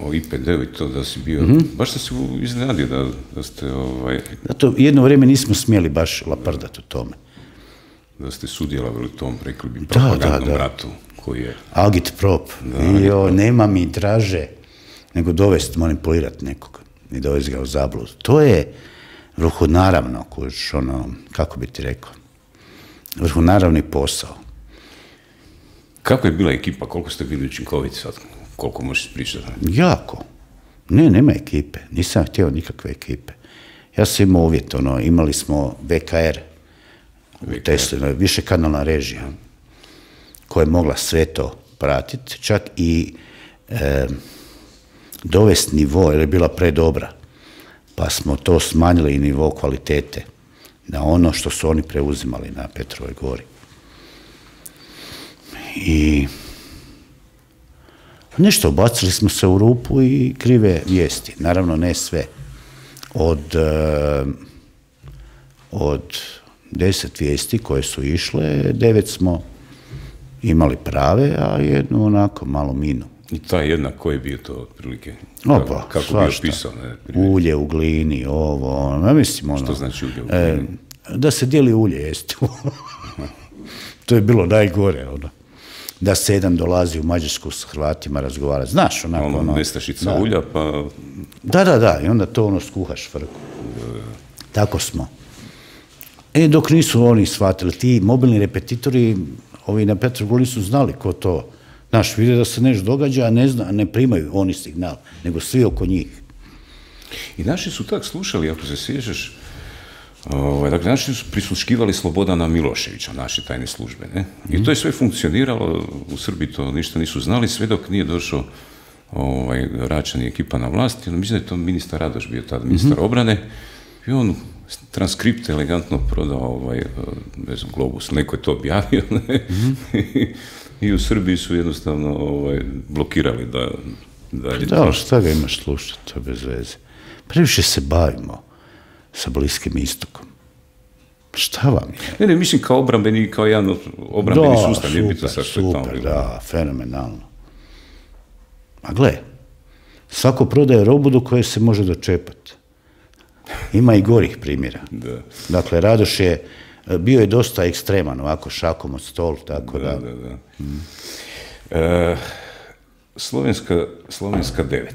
o IPD-u i to da si bio, baš sam se iznenadio da ste Zato jedno vrijeme nismo smjeli baš laprdati o tome. Da ste sudjelovali u tom, rekli bi, propagandnom ratu koji je... Agitprop. Nema mi draže nego dovesti, manipulirati nekog i dovesti ga u zabludu. To je vrhunaravno, kako bi ti rekao, vrhunaravni posao. Kako je bila ekipa? Koliko ste bili učinkoviti sad? Koliko možeš pričati? Jako. Nema ekipe. Nisam htio nikakve ekipe. Ja sam imao uvjet, imali smo VKR u Tesli, višekanalna režija, koja je mogla sve to pratiti, čak i dovesti nivo, jer je bila predobra, pa smo to smanjili i nivo kvalitete na ono što su oni preuzimali na Petrovoj gori. I nešto, bacili smo se u rupu i krive vijesti. Naravno, ne sve. Od 10 vijesti koje su išle, 9 smo imali prave, a jednu onako malo minu. I ta jedna, koji je bio to otprilike? Kako svašta. Bio pisao? Ulje u glini, ja mislim Što znači ulje u glini? Da se dijeli ulje, jeste. To je bilo najgore, da se jedan dolazi u Mađarsku s Hrvatima razgovarati. Znaš, onako... Nestašica ulja, pa... Da, i onda to skuhaš frku. Tako smo. Dok nisu oni shvatili, ti mobilni repetitori, ovi na Petrovoj su znali ko to. Znaš, vide da se nešto događa, a ne primaju oni signal, nego svi oko njih. I naši su tak slušali, ako se sjećaš, dakle, naši su prisluškivali Slobodana Miloševića, naše tajne službe, ne? I to je sve funkcioniralo, u Srbiji to ništa nisu znali, sve dok nije došao Račan i ekipa na vlast. Mislim da je to ministar Radoš bio tada, ministar obrane, i on transkripte elegantno prodao Globus, neko je to objavio, ne? I u Srbiji su jednostavno blokirali da, šta ga imaš slušati, to bez veze. Previše se bavimo sa Bliskim istokom. Šta vam je? Ne, mislim kao obrambeni, kao jedan obrambeni sustav. Super, da, fenomenalno. A gle, svako prodaje robu do koje se može dočepati. Ima i gorih primjera. Dakle, Radoš je bio dosta ekstreman, ovako šakom od stol, tako da. Slovenska 9.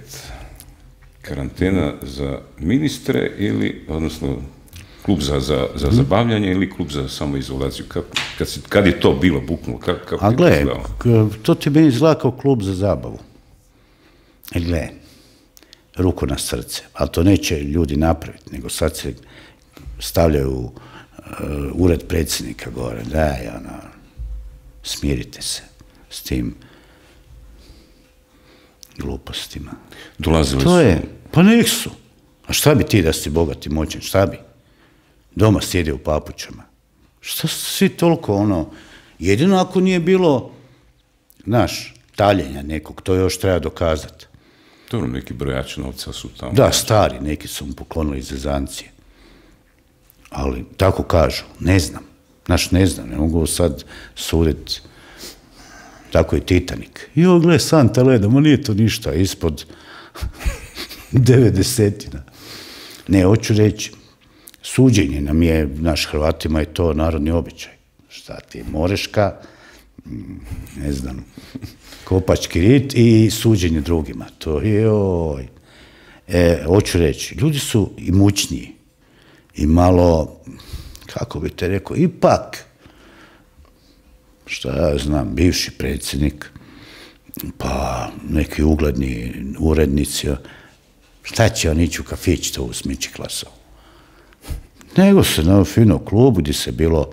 Karantena za ministre ili, odnosno, klub za zabavljanje ili klub za samoizolaciju? Kad je to bilo buknulo? A gle, to ti meni izgleda kao klub za zabavu. Gle, ruku na srce, ali to neće ljudi napraviti, nego sad se stavljaju ured predsjednika gore, daj, smirite se s tim glupostima. Dolazili su? Pa nek su. A šta bi ti da si bogat i moćan, šta bi? Doma sjedi u papučama. Šta svi toliko jedino ako nije bilo, znaš, taljenja nekog, to još treba dokazati. Dobro, neki brojači novca su tamo. Da, stari, neki su mu poklonili zezancije. Ali, tako kažu, ne znam. Znaš, ne znam, ne mogu sad suditi. Tako je Titanic. Gle, santa leda, ma nije to ništa, ispod 90. Ne, hoću reći, suđenje nam je, naš Hrvatima je to narodni običaj. Šta ti, Moreška, ne znam, Kopački rit i suđenje drugima. To je, hoću reći, ljudi su imućniji i malo, kako bi te rekao, ipak, šta ja znam, bivši predsjednik, pa neki ugledni urednici, šta će on ići u kafić to u Smići Klasovu? Nego se na fino klubu gdje se bilo,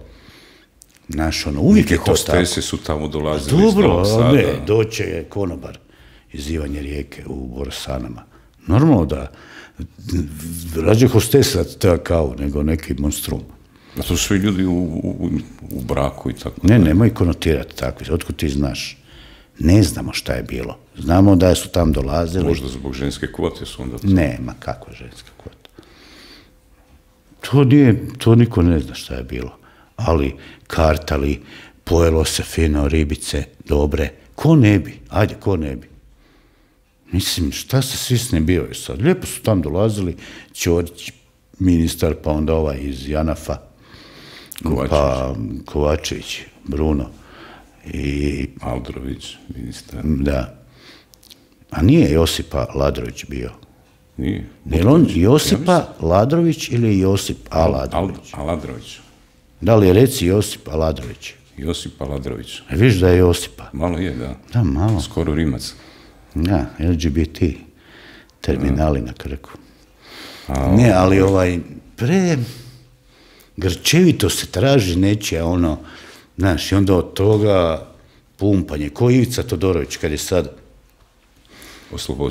znaš, ono, uvijek je to tako. Hostese su tamo dolazili iz Dobro, Novog Sada. ne, doće je konobar iz Ivanje Rijeke u Borosanama. Normalno da rađe hostesa ta kavu nego neki monstrum. A to su svi ljudi u braku i tako. Ne, nemoj konotirati takvi. Otkud ti znaš? Ne znamo šta je bilo. Znamo da su tam dolazili. Možda zbog ženske kvote su onda... Ne, ma kako ženska kvota? To niko ne zna šta je bilo. Ali kartali, pojelo se fino, ribice, dobre. Ko ne bi? Ajde, ko ne bi? Mislim, šta se svi snebivaju sad? Lijepo su tam dolazili, Ćorić, ministar, pa onda ovaj iz Janafa, pa Kovačević, Bruno. I Aldrović, ministar. Da. A nije Josipa Ladrović bio? Nije. Je on Josipa Ladrović ili Josip Aladrović? Aladrović. Da li je reci Josip Aladrović? Josip Aladrović. Viš da je Josipa? Malo je, da. Da, malo. Skoro Rimac. Da, LGBT terminali na Krku. Ne, ali grčevito se traži nečija ono, znaš, i onda od toga pumpanje. Ko Ivica Todorović kad je sad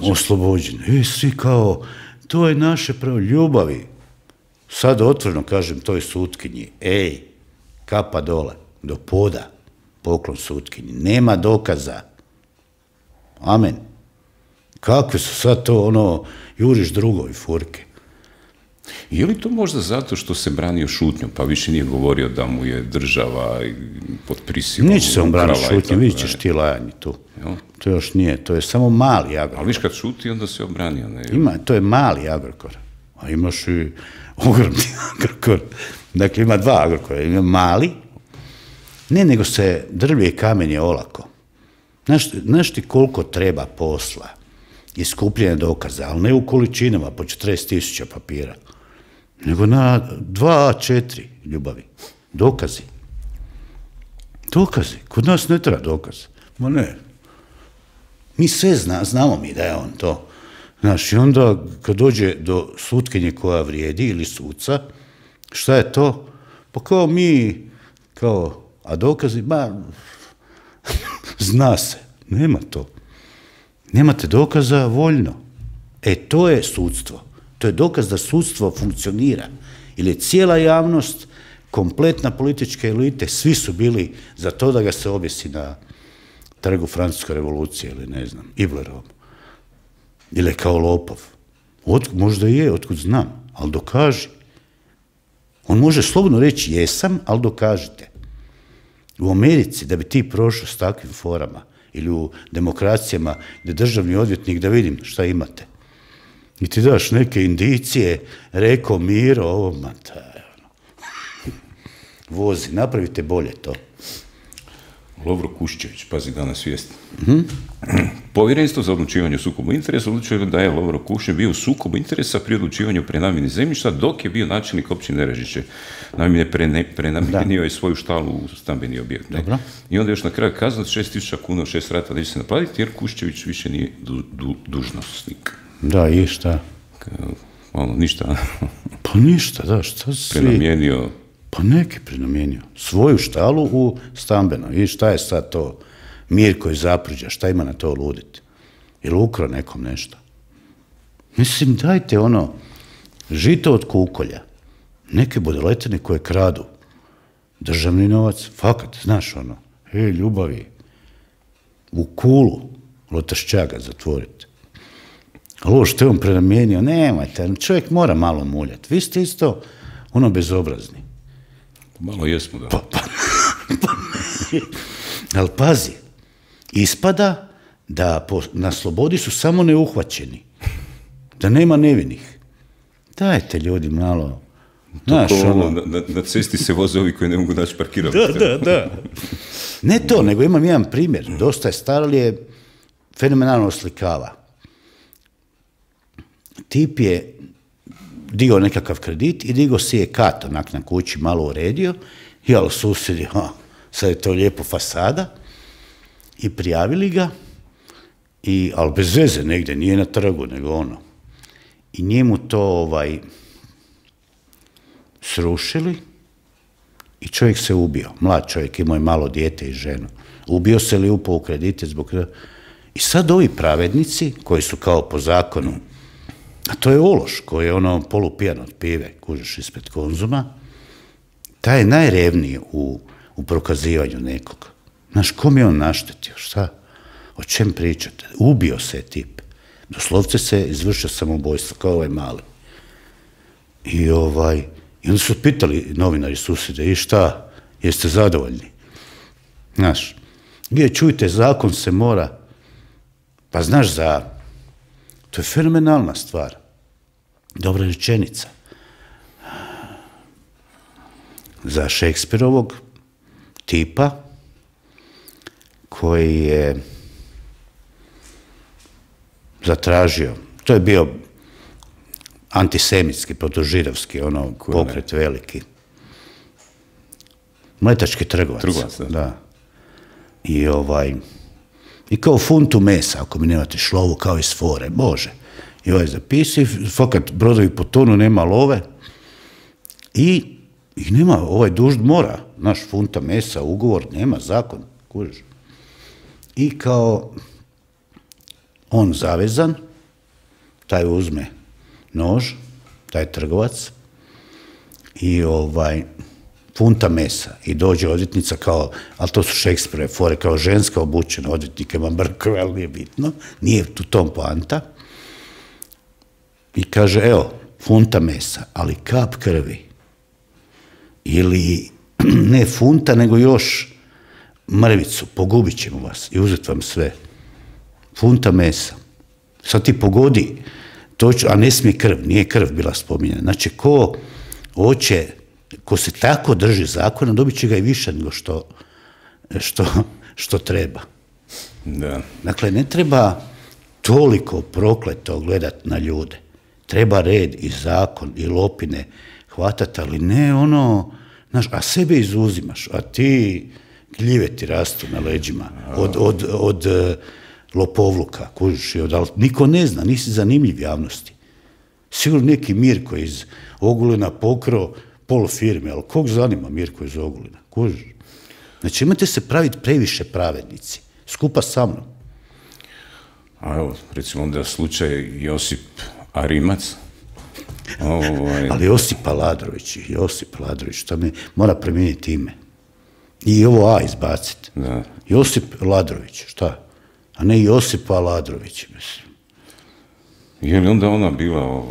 oslobođen. Svi kao, to je naše pravo ljubavi. Sad otvoreno kažem toj sutkinji, kapa dole, do poda, poklon sutkinji. Nema dokaza. Amen. Kakve su sad to, ono, juriš drugovi furke? Je li to možda zato što se branio šutnjom, pa više nije govorio da mu je država pod prisilom? Neće se on braniti šutnjom, vidit ćeš ti lajanje tu. To još nije, to je samo mali Agrokor. Ali viš kad šuti, onda se obranio. Ima, to je mali Agrokor. A imaš i ogromni Agrokor. Dakle, ima dva Agrokora. Ima mali, ne, nego se drvlje i kamen je olako. Znaš ti koliko treba posla i skupljene dokaza, ali ne u količinama po 40.000 papira, nego na 2 A4 ljubavi. Dokazi. Dokazi. Kod nas ne treba dokaz. Ma ne. Mi sve znamo mi da je on to. Znaš, i onda kad dođe do sutkinje koja vrijedi ili suca, šta je to? Pa kao mi, a dokazi, zna se. Nema to. Nemate dokaza voljno. To je sudstvo. To je dokaz da sudstvo funkcionira. Ili cijela javnost, kompletna politička elite, svi su bili za to da ga se objesi na trgu Francuske revolucije ili ne znam, Iblerovom. Ili kao lopov. Možda je, otkud znam, ali dokaži. On može slobodno reći jesam, ali dokažite. U Americi, da bi ti prošao s takvim forama, ili u demokracijama gdje državni odvjetnik da vidim šta imate. I ti daš neke indicije, rekao Miro, ovo, vozi, napravite bolje to. Lovro Kuščević, pazi danas vijest. Povjerenstvo za odlučivanje o sukobu interesa odlučilo da je Lovro Kuščević bio u sukobu interesa pri odlučivanju o prenamjeni zemljišta dok je bio načelnik općine Režišće. Naime, prenamijenio je svoju štalu u stambeni objekt. I onda još na kraju kazna 6.000 kuna, 6 rata da će se naplatiti jer Kuščević više nije dužnosnik. Da, i šta? Ništa. Pa ništa, da, šta si... Prenamijenio... Pa neki prenamijenio. Svoju štalu u stambeno. I šta je sad to? Mirko iz Zapruđa, šta ima na to luditi? Ili ukrao nekom nešto? Mislim, dajte žito od kukolja. Neke budaletine koje kradu. Državni novac, fakat, znaš ljubavi. U kulu Lotašćaga zatvorite. Ali ovo što je on prenamijenio, nemojte, čovjek mora malo muljati. Vi ste isto bezobrazni. Malo jesmo, da. Ali pazi, ispada da na slobodi su samo neuhvaćeni. Da nema nevinih. Dajte ljudi malo... Na cesti se voze ovi koji ne mogu naći parkirati. Da. Ne to, nego imam jedan primjer. Dosta je star, ali je fenomenalno oslikava. Tip je digao nekakav kredit i digao si je kat, onak na kući, malo uredio, i ali susjedi, sad je to lijepo fasada, i prijavili ga, ali bez veze negdje, nije na trgu, nego ono. I njemu to srušili i čovjek se ubio. Mlad čovjek, imao je malo dijete i ženu. Ubio se ili upao u kredite zbog... I sad ovi pravednici, koji su kao po zakonu, a to je ološ, koji je ono polupijan od pive, kužiš ispred Konzuma, taj je najrevniji u prokazivanju nekog. Znaš, kom je on naštetio, šta? O čem pričate? Ubio se je tip. Doslovce se izvršio samoubojstvo, kao ovaj mali. I onda su pitali novinari susjede, i šta, jeste zadovoljni? Znaš, čujte, zakon se mora, pa znaš, to je fenomenalna stvar. Dobra rečenica. Za Šekspirovog tipa koji je zatražio, to je bio antisemitski, protožidovski, pokret veliki. Mletački trgovac. Da. I kao funtu mesa, ako mi nemate šlovu, kao iz fore, Bože. I zapisi, fakat brodovi potonu, nema love. I nema, dužd mora, naš funta mesa, ugovor, nema, zakon, kužiš. I kao on zavezan, taj uzme nož, taj trgovac, i funta mesa. I dođe odvjetnica kao, ali to su Šekspirove fore, kao ženska obučena, odvjetnik ima brkove, ali nije bitno, nije tu tom poanta. I kaže, evo, funta mesa, ali kap krvi. Ili ne funta, nego još mrvicu, pogubit ćemo vas i uzeti vam sve. Funta mesa. Sad ti pogodi, a ne smije krv, nije krv bila spominjena. Znači, ko se tako drži zakona, dobit će ga i više nego što treba. Da. Dakle, ne treba toliko prokleto gledati na ljude. Treba red i zakon i lopine hvatati, ali ne znaš, a sebe izuzimaš, a ti gljive ti rastu na leđima od lopovluka, kužiš, ali niko ne zna, nisi zanimljiv javnosti. Sigurno neki Mirko iz Ogulina pokro pol firme, ali kog zanima Mirko iz Ogulina, kužiš? Znači, imate se praviti previše pravednici, skupa sa mnom. A evo, recimo onda slučaj Josip Arimac. Ali Josip Ladrović, to mi mora promijeniti ime. I ovo A izbaciti. Josip Ladrović, šta? A ne Josip Ladrović, mislim. Je li onda ona bila,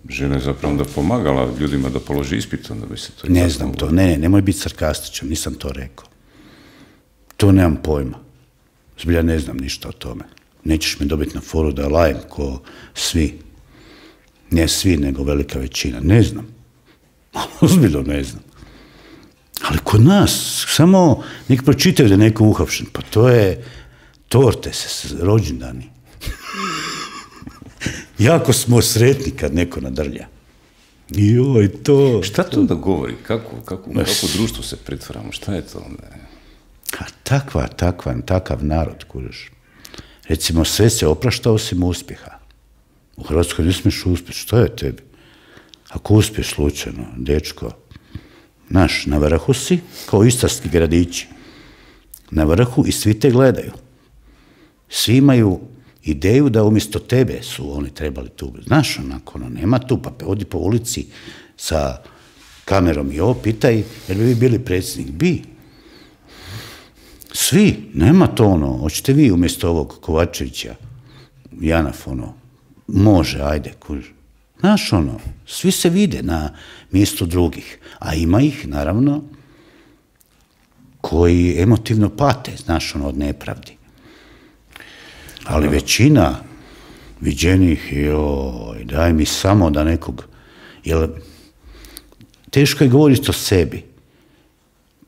žena je zapravo onda pomagala ljudima da položi ispit, onda bi se to... Ne znam to, nemoj biti sarkastičan, nisam to rekao. To nemam pojma. Zbilja ne znam ništa o tome. Nećeš me dobiti na foru da lajem ko svi. Ne svi, nego velika većina. Ne znam. Ozbiljno ne znam. Ali kod nas, samo nek pročitaju da je neko uhapšen. Pa to je torte se, rođendani. Jako smo sretni kad neko nadrlja. Joj, to... Šta to da govori? Kako društvo se pretvaramo? Šta je to? Takav narod, kužiš. Recimo, sve se oprašta osim uspjeha. U Hrvatskoj ne smiješ uspjeti. Što je tebi? Ako uspješ slučajno, dečko, naš, na vrhu si, kao istarski gradići. Na vrhu i svi te gledaju. Svi imaju ideju da umjesto tebe su oni trebali tu. Znaš, onako, nema tu, pa odi po ulici sa kamerom i ovo, pitaj, jer bi vi bili predsjednik? Bi. Svi, nema to hoćete vi umjesto ovog Kovačevića, Janaf, može, ajde, znaš, svi se vide na mjestu drugih, a ima ih, naravno, koji emotivno pate, znaš, od nepravdi. Ali većina viđenih, daj mi samo da nekog, jer teško je govoriti o sebi.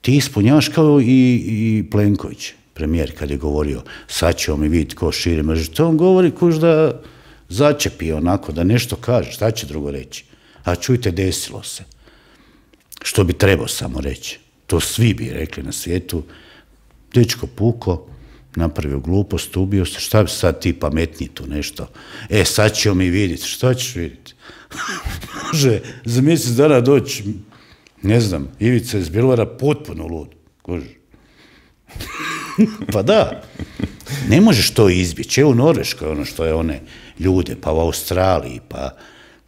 Ti ispunjavaš kao i Plenković, premijer, kad je govorio, sad ćemo mi vidjeti ko širi mržnju. To on govori da začepi onako da nešto kaže, šta će drugo reći? A čujte, desilo se. Što bi trebao samo reći? To svi bi rekli na svijetu. Dečko puko, napravio glupost, ubio se, šta bi sad ti pametniji tu nešto? Sad ćemo mi vidjeti, šta ćeš vidjeti? Može za mjesec dana doći, ne znam, Ivica iz Bjelovara potpuno lud. Pa da, ne možeš to izbjeći. Evo u Norveškoj ono što je one ljude, pa u Australiji, pa,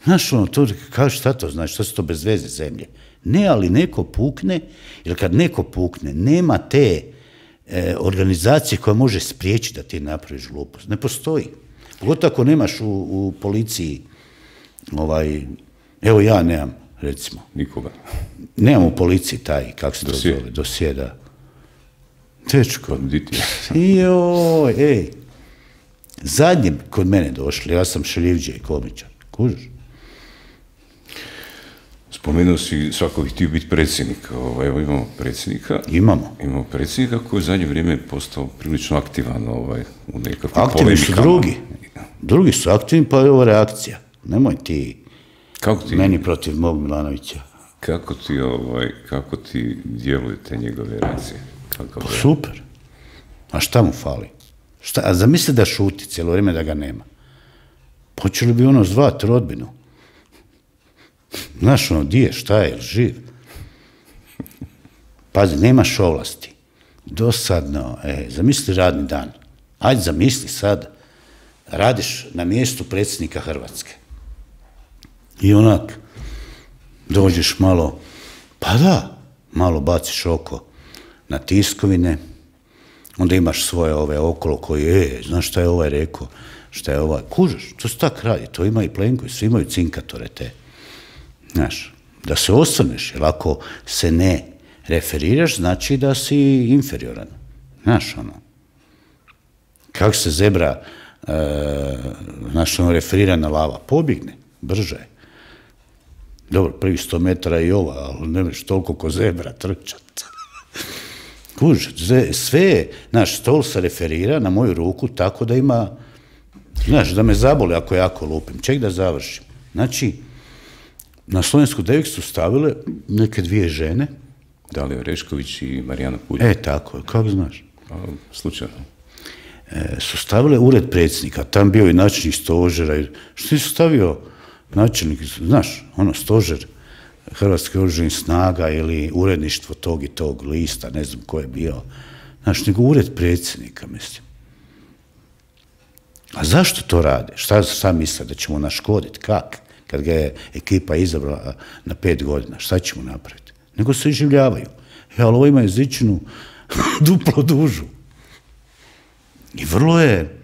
znaš ono, to kaže šta to znači, što su to bez veze zemlje? Ne, ali neko pukne, jer kad neko pukne, nema te organizacije koja može spriječiti da ti napraviš glupost. Ne postoji. Pogotovo ako nemaš u policiji, evo ja nemam, recimo. Nikoga. Nemam u policiji taj, kako se to zove, dosje, da. Tečko. Joj, zadnji kod mene došli, ja sam šeljivđe i komičar. Kužiš? Spomenuo si svako bi htio biti predsjednik. Evo imamo predsjednika. Imamo predsjednika koji u zadnje vrijeme je postao prilično aktivan u nekakvim polemikama. Aktivni su drugi. Drugi su aktivni, pa je ovo reakcija. Nemoj ti meni protiv mog Milanovića. Kako ti djeluju te njegove reakcije? Super. A šta mu fali? A zamisli da šuti cijelo vrijeme da ga nema. Počeli bi ono zvati rodbinu. Znaš ono, di je, šta je, živ? Pazi, nemaš ovlasti. Dosadno, zamisli radni dan. Ajde, zamisli sad, radiš na mjestu predsjednika Hrvatske. I onak, dođeš malo, pa da, malo baciš oko na tiskovine, onda imaš svoje ove okolo koji, znaš šta je ovaj rekao, šta je ovaj, kužeš, to se tak radi, to ima i Plenković, svi imaju cinkatore te. Znaš, da se osvrneš, jer ako se ne referiraš, znači da si inferioran. Znaš, ono, kako se zebra, znaš, ono, referirana lava, pobjegne, brže. Dobro, prvi 100 metara i ova, ali ne možeš toliko ko zebra trčat. Kuž, sve, znaš, stol se referira na moju ruku tako da ima, znaš, da me zaboli ako jako lupim. Ček da završim. Znači, na Slovensku 9 su stavile neke dvije žene. Dalija Orešković i Marijana Puljak. Tako, kako znaš? Slučajno. Su stavile ured predsjednika, tam bio i načelnik stožera. Što su stavio načelnik, znaš, ono, stožer Hrvatske oružanih snaga ili uredništvo tog i tog lista, ne znam ko je bio. Znaš, nego ured predsjednika, mislim. A zašto to rade? Šta misle, da ćemo naškoditi? Kak? Kad ga je ekipa izabrala na 5 godina, šta ćemo napraviti? Nego se iživljavaju. Ali ovo ima jezičinu duplo dužu. I vrlo je,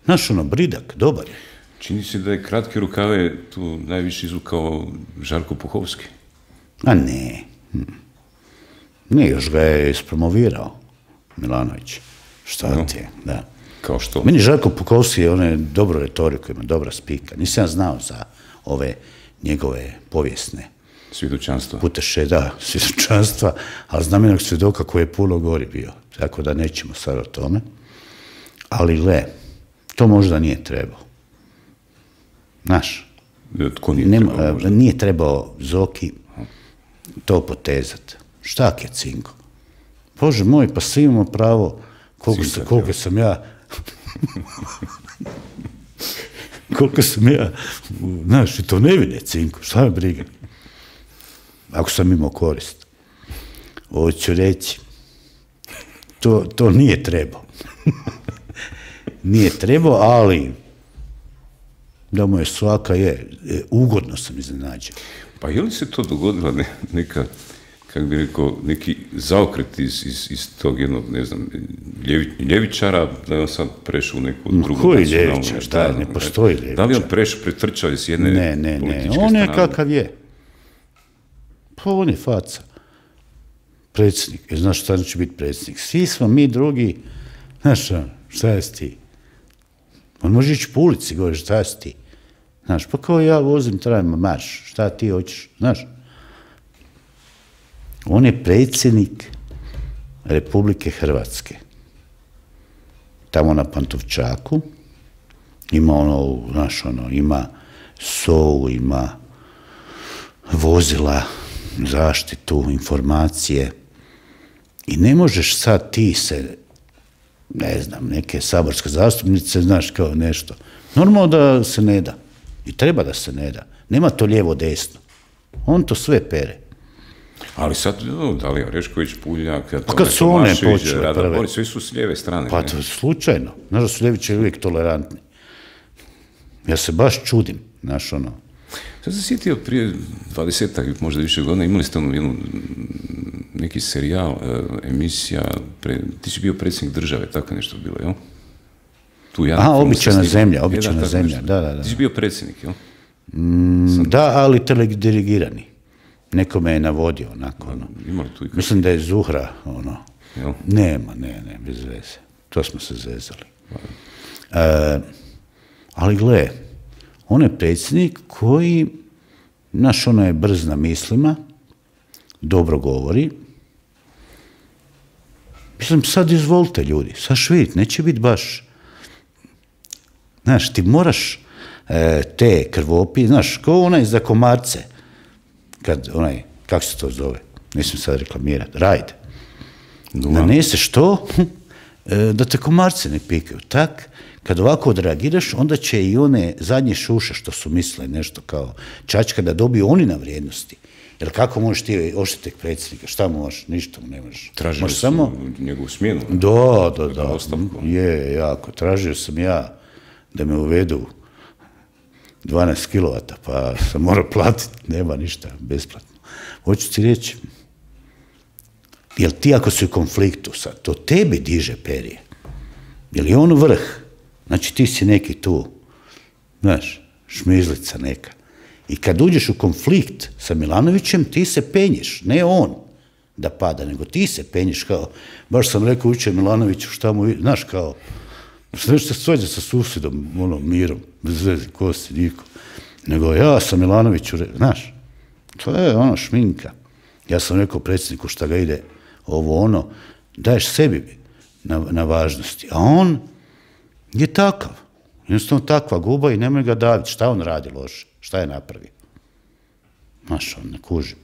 znaš, ono, bridak, dobar je. Čini se da je kratke rukave tu najviše izvukao Žarko Puhovski. A ne. Ne, još ga je ispromovirao Milanović. Šta ti je, da. Kao što? Meni Žarko Puhovski je, on je dobro retoriku, ima dobra spika. Nisam znao za ove njegove povijesne svjedočanstva. Puteše, da, svjedočanstva, ali znam jednog svjedoka koji je puno gori bio. Tako da nećemo sad o tome. Ali to možda nije trebao. Znaš, tko nije trebao možda? Nije trebao Zoki to potezat. Šta je cinko? Bože moj, pa svi imamo pravo koliko sam ja koliko sam ja, znaš, i to ne vide cinko, šta me briga? Ako sam imao korist. Ovo ću reći, to nije trebao. Nije trebao, ali da mu je svaka ugodno sam iznenađen. Pa je li se to dogodila neka, kako bi rekao, neki zaokret iz tog jednog, ne znam, ljevičara, da je on sad prešao u neku drugu koji ljevičar? Da, ne postoji ljevičar. Da li on pretrčao iz jedne političke strane? On je kakav je. Pa on je faca. Predsjednik. Znaš šta će biti predsjednik? Svi smo mi drugi, znaš šta je s ti? On može ići po ulici, govori, šta si ti? Znaš, pa kao ja vozim, trajem marš, šta ti hoćeš, znaš? On je predsjednik Republike Hrvatske. Tamo na Pantovčaku Ima ima SOU, ima vozila, zaštitu, informacije. I ne možeš sad ti se, ne znam, neke saborske zastupnice, znaš, kao nešto. Normalno da se ne da. I treba da se ne da. Nema to lijevo desno. On to sve pere. Ali sad, Dalija Orešković, Puljak, kad su one počele prve? Svi su s lijeve strane. Pa to slučajno. Znaš da su ljevičari uvijek tolerantni. Ja se baš čudim, znaš ono. Sad se sjetio prije 20-ak, možda više godina, imali ste neki serijal, emisija, ti si bio predsjednik države, tako nešto bilo, jel? Običajna zemlja, da. Ti si bio predsjednik, jel? Da, ali teledirigirani. Neko me je navodio, onako, ono. Mislim da je Zuhra, ono. Jel? Nema, ne, bez veze. To smo se zezali. Ali gle, on je predsjednik koji, znaš, ono je brz na mislima, dobro govori. Mislim, sad izvolite ljudi, sad vidite, neće biti baš. Znaš, ti moraš te krvopi, znaš, kao onaj za komarce, kad onaj, kako se to zove, nisam sad reklamirati, rajd. Naneseš to, da te komarce ne pikaju. Tak, kad ovako odreagiraš, onda će i one zadnje šuše što su mislile nešto kao čačka da dobiju oni na vrijednosti. Jer kako možeš ti oštetiti predsjednika? Šta možeš? Ništa mu ne možeš. Tražio sam njegovu smjenu. Da. Je, jako. Tražio sam ja da me uvedu 12 kilovata, pa sam morao platiti. Nema ništa, besplatno. Hoću ti reći, jel ti ako si u konfliktu sad, to tebi diže perje? Jel je on vrh? Znači ti si neki tu, znaš, šmizlica neka. I kad uđeš u konflikt sa Milanovićem, ti se penješ, ne on da pada, nego ti se penješ kao, baš sam rekao uče Milanoviću šta mu, znaš kao, znaš se svađa sa susjedom, ono, mirom, bez veze, ko si, niko. Nego ja sam Milanoviću, znaš, to je ono šminka. Ja sam rekao predsjedniku šta ga ide ovo ono, daješ sebi na važnosti, a on je takav. Jednostavno takva guba i nemoj ga daviti. Šta on radi loše? Šta je napravio? Znaš, on ne kuži.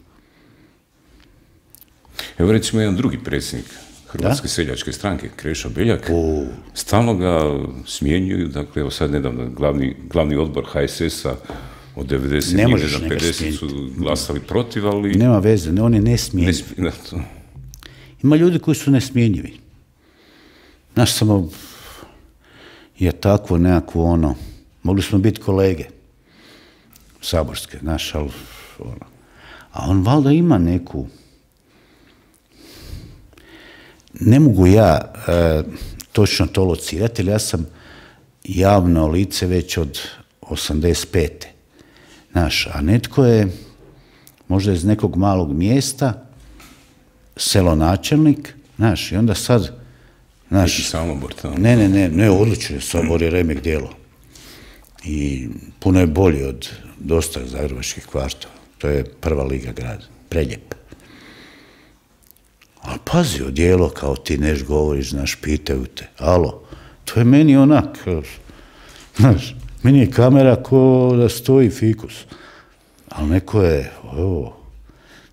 Evo recimo jedan drugi predsjednik Hrvatske seljačke stranke, Krešo Beljak, stalno ga smjenjuju, dakle, evo sad nedavno glavni odbor HSS-a od 90 do 50 su glasali protiv, ali... Nema veze, on je nesmjenjiv. Ima ljudi koji su nesmjenjivi. Znaš, samo je takvo nekako ono, mogli smo biti kolege saborske, znaš, ali ono. A on valjda ima neku, ne mogu ja točno to locirati, jer ja sam javno lice već od 85. Znaš, a netko je možda iz nekog malog mjesta, selonačelnik, znaš, i onda sad, znaš, Samobor tamo. Ne, odlično je Samobor je remek djelo. I puno je bolji od dosta zagrebačkih kvartova. To je prva liga grad, preljep. Ali pazi, odjelo kao ti neš govoriš, znaš, pitaju te, alo, to je meni onak, znaš, meni je kamera ko da stoji fikus. Ali neko je,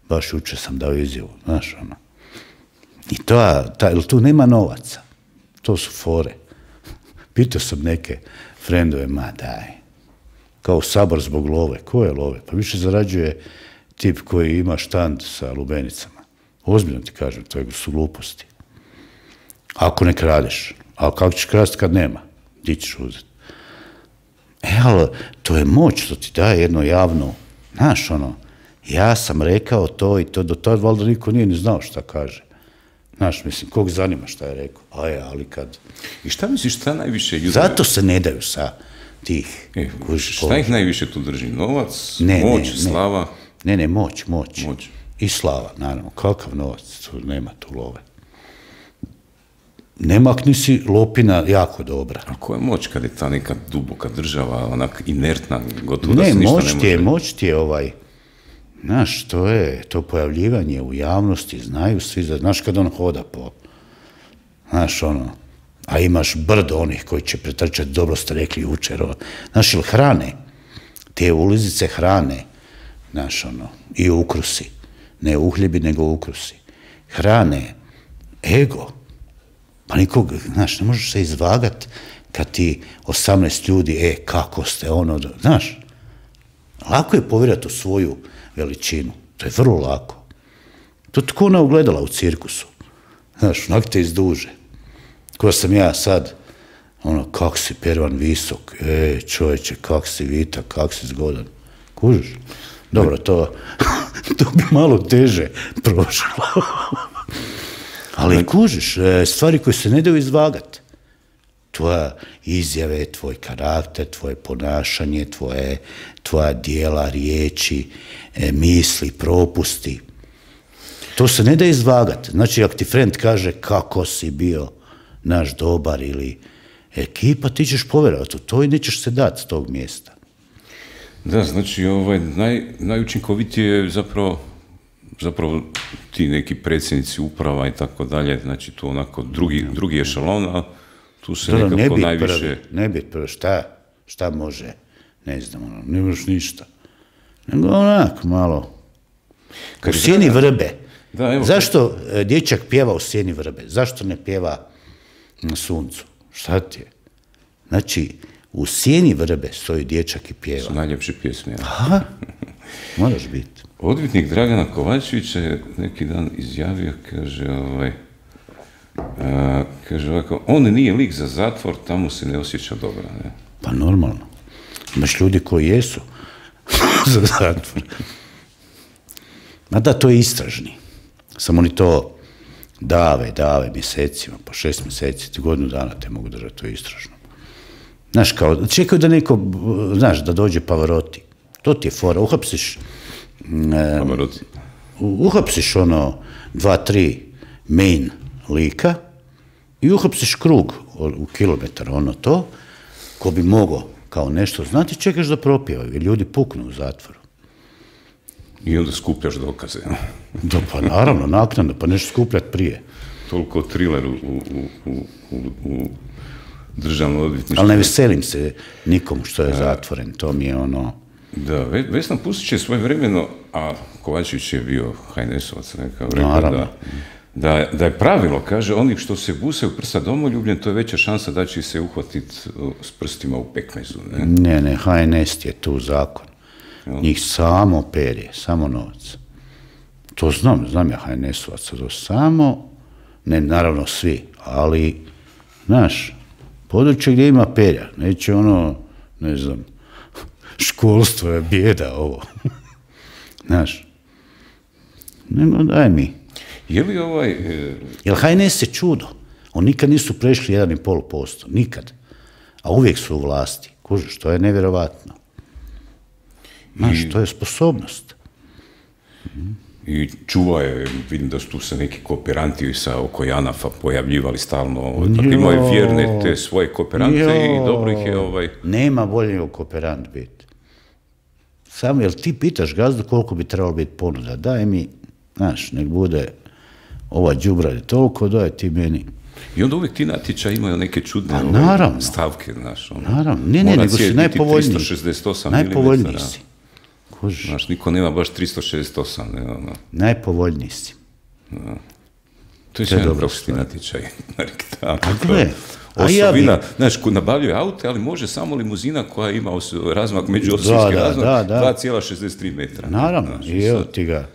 baš jučer sam dao izjavu, znaš, ono. I jer tu nema novaca. To su fore. Pitao sam neke frendove, ma daj, kao Sabor zbog love. Ko je love? Pa više zarađuje tip koji ima štand sa lubenicama. Ozbiljno ti kažem, to su gluposti. Ako ne kradeš. Ali kako ćeš krasti kad nema? Di ćeš uzeti? Ali to je moć što ti daje jedno javno, znaš, ono, ja sam rekao to i to, do tada valjda niko nije ni znao šta kaže. Znaš, mislim, kog zanima šta je rekao? Ali kad... I šta misliš, šta najviše ljudi... Zato se ne daju sa tih... Šta ih najviše tu drži? Novac, moć, slava? Ne, moć. I slava, naravno. Kakav novac? Nema tu love. Ne makni si lopina jako dobra. A koja je moć kad je ta neka duboka država, onak inertna, gotovo da se ništa ne može... Moć ti je znaš, to je to pojavljivanje u javnosti, znaju svi, znaš kad on hoda po, znaš, ono, A imaš brdo onih koji će pretrčati, dobro ste rekli jučer. Znaš, ili hrane, te ulizice hrane, znaš, i ukrusi. Ne uhljebi, nego ukrusi. Hrane, ego. Pa nikog, znaš, ne možeš se izvagat kad ti 18 ljudi, kako ste, znaš. Lako je povjerati u svoju veličinu. To je vrlo lako. To je tko ona ugledala u cirkusu. Znaš, onak te izduže. Ko sam ja sad, kak si Pervan visok, čovječe, kak si vitak, kak si zgodan. Kužiš? Dobro, to bi malo teže prošlo. Ali kužiš, stvari koje se ne daju izvagati. Tvoja izjave, tvoj karakter, tvoje ponašanje, tvoja dijela, riječi, misli, propusti. To se ne da izvagati. Znači, ako ti friend kaže kako si bio naš dobar ili ekipa, ti ćeš povjerovati u to i nećeš se dati s tog mjesta. Da, znači, najučinkovitije je zapravo ti neki predsjednici uprava i tako dalje, znači tu onako drugi ešalon, a tu se nekako najviše... Ne biti prvi, šta može, ne znam, ne možeš ništa. Nego onak, malo, u sjeni vrbe. Zašto dječak pjeva u sjeni vrbe? Zašto ne pjeva na suncu? Šta ti je? Znači, u sjeni vrbe stoji dječak i pjeva. Su najljepše pjesme. Aha, moraš biti. Odvjetnik Dragana Kovačevića je neki dan izjavio, kaže ovako, on nije lik za zatvor, tamo se ne osjeća dobro. Ne? Pa normalno. Imaš ljudi koji jesu za zatvor. Ma da, to je istražni. Samo oni to dave mjesecima, po 6 mjeseci, godinu dana te mogu držati, to je istražno. Znaš, kao, čekaju da neko, znaš, da dođe Pavarotti. To ti je fora, uhapsiš uhapsiš 2-3 main lika i uhapsiš krug u kilometar, to, ko bi mogao kao nešto znati, čekaš da propjevaju, jer ljudi puknu u zatvoru. I onda skupljaš dokaze. Da, pa naravno, naknadno, pa nešto skupljati prije. Toliko thriller u državnom odvjetništvu. Ali ne veselim se nikomu što je zatvoren, to mi je Da, Vesna Pusić je svojevremeno, a Kovačević je bio HNS-ovac, rekao da je pravilo, kaže, onih što se busaju prsa domoljubljem, to je veća šansa da će se uhvatiti s prstima u pekmezu. Ne, HNS je tu zakon. Njih samo perje, samo novac. To znam ja HNS-ovaca, to samo, ne naravno svi, ali, znaš, područje gdje ima perja, neće ne znam, školstvo je bijeda ovo. Znaš, nego daj mi. Je li Jer HNS je čudo. Oni nikad nisu prešli 1,5%. Nikad. A uvijek su u vlasti. Kužiš, to je nevjerovatno. Znaš, to je sposobnost. I čuva je, vidim da su tu se neki kooperanti oko JANAF-a pojavljivali stalno. Dakle, imaju vjerne te svoje kooperante i dobro ih je Nema bolje nego kooperant biti. Samo, jel ti pitaš gazdu koliko bi trebalo biti ponuda? Daj mi, znaš, nek bude ova đubrad toliko, daj ti meni. I onda uvijek ti natječaji imaju neke čudne stavke, znaš. Naravno, ne, nego si najpovoljniji. 368 najpovoljniji si. Znaš, niko nema baš 368. Najpovoljniji si. To je jedan profesni natječaj. Gle, Osovina, znaš, nabavljaju aute, ali može samo limuzina koja ima razmak, međuosovijski razmak, 2,63 metra. Naravno, i evo ti ga.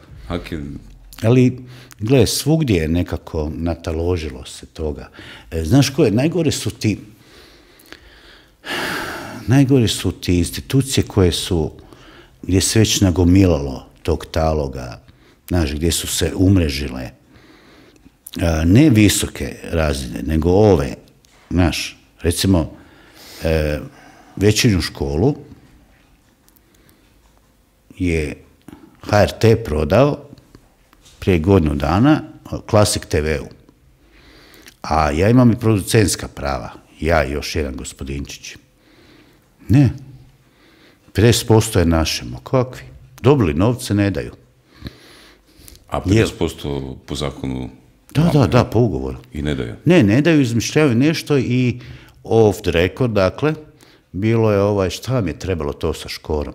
Ali, gle, svugdje je nekako nataložilo se toga. Znaš koje, najgore su ti institucije koje su, gdje se već nagomilalo tog taloga, znaš, gdje su se umrežile, ne visoke razine, nego ove, znaš, recimo, večernju školu je HRT prodao prije godinu dana Klasik TV-u. A ja imam i producentska prava, ja i još jedan gospodinčić. Ne, 50% je našemo, kakvi? Dobili novce, ne daju. A 50% po zakonu Da, po ugovoru. I ne daju? Ne daju, izmišljaju nešto i off the record, dakle, bilo je šta vam je trebalo to sa Škorom.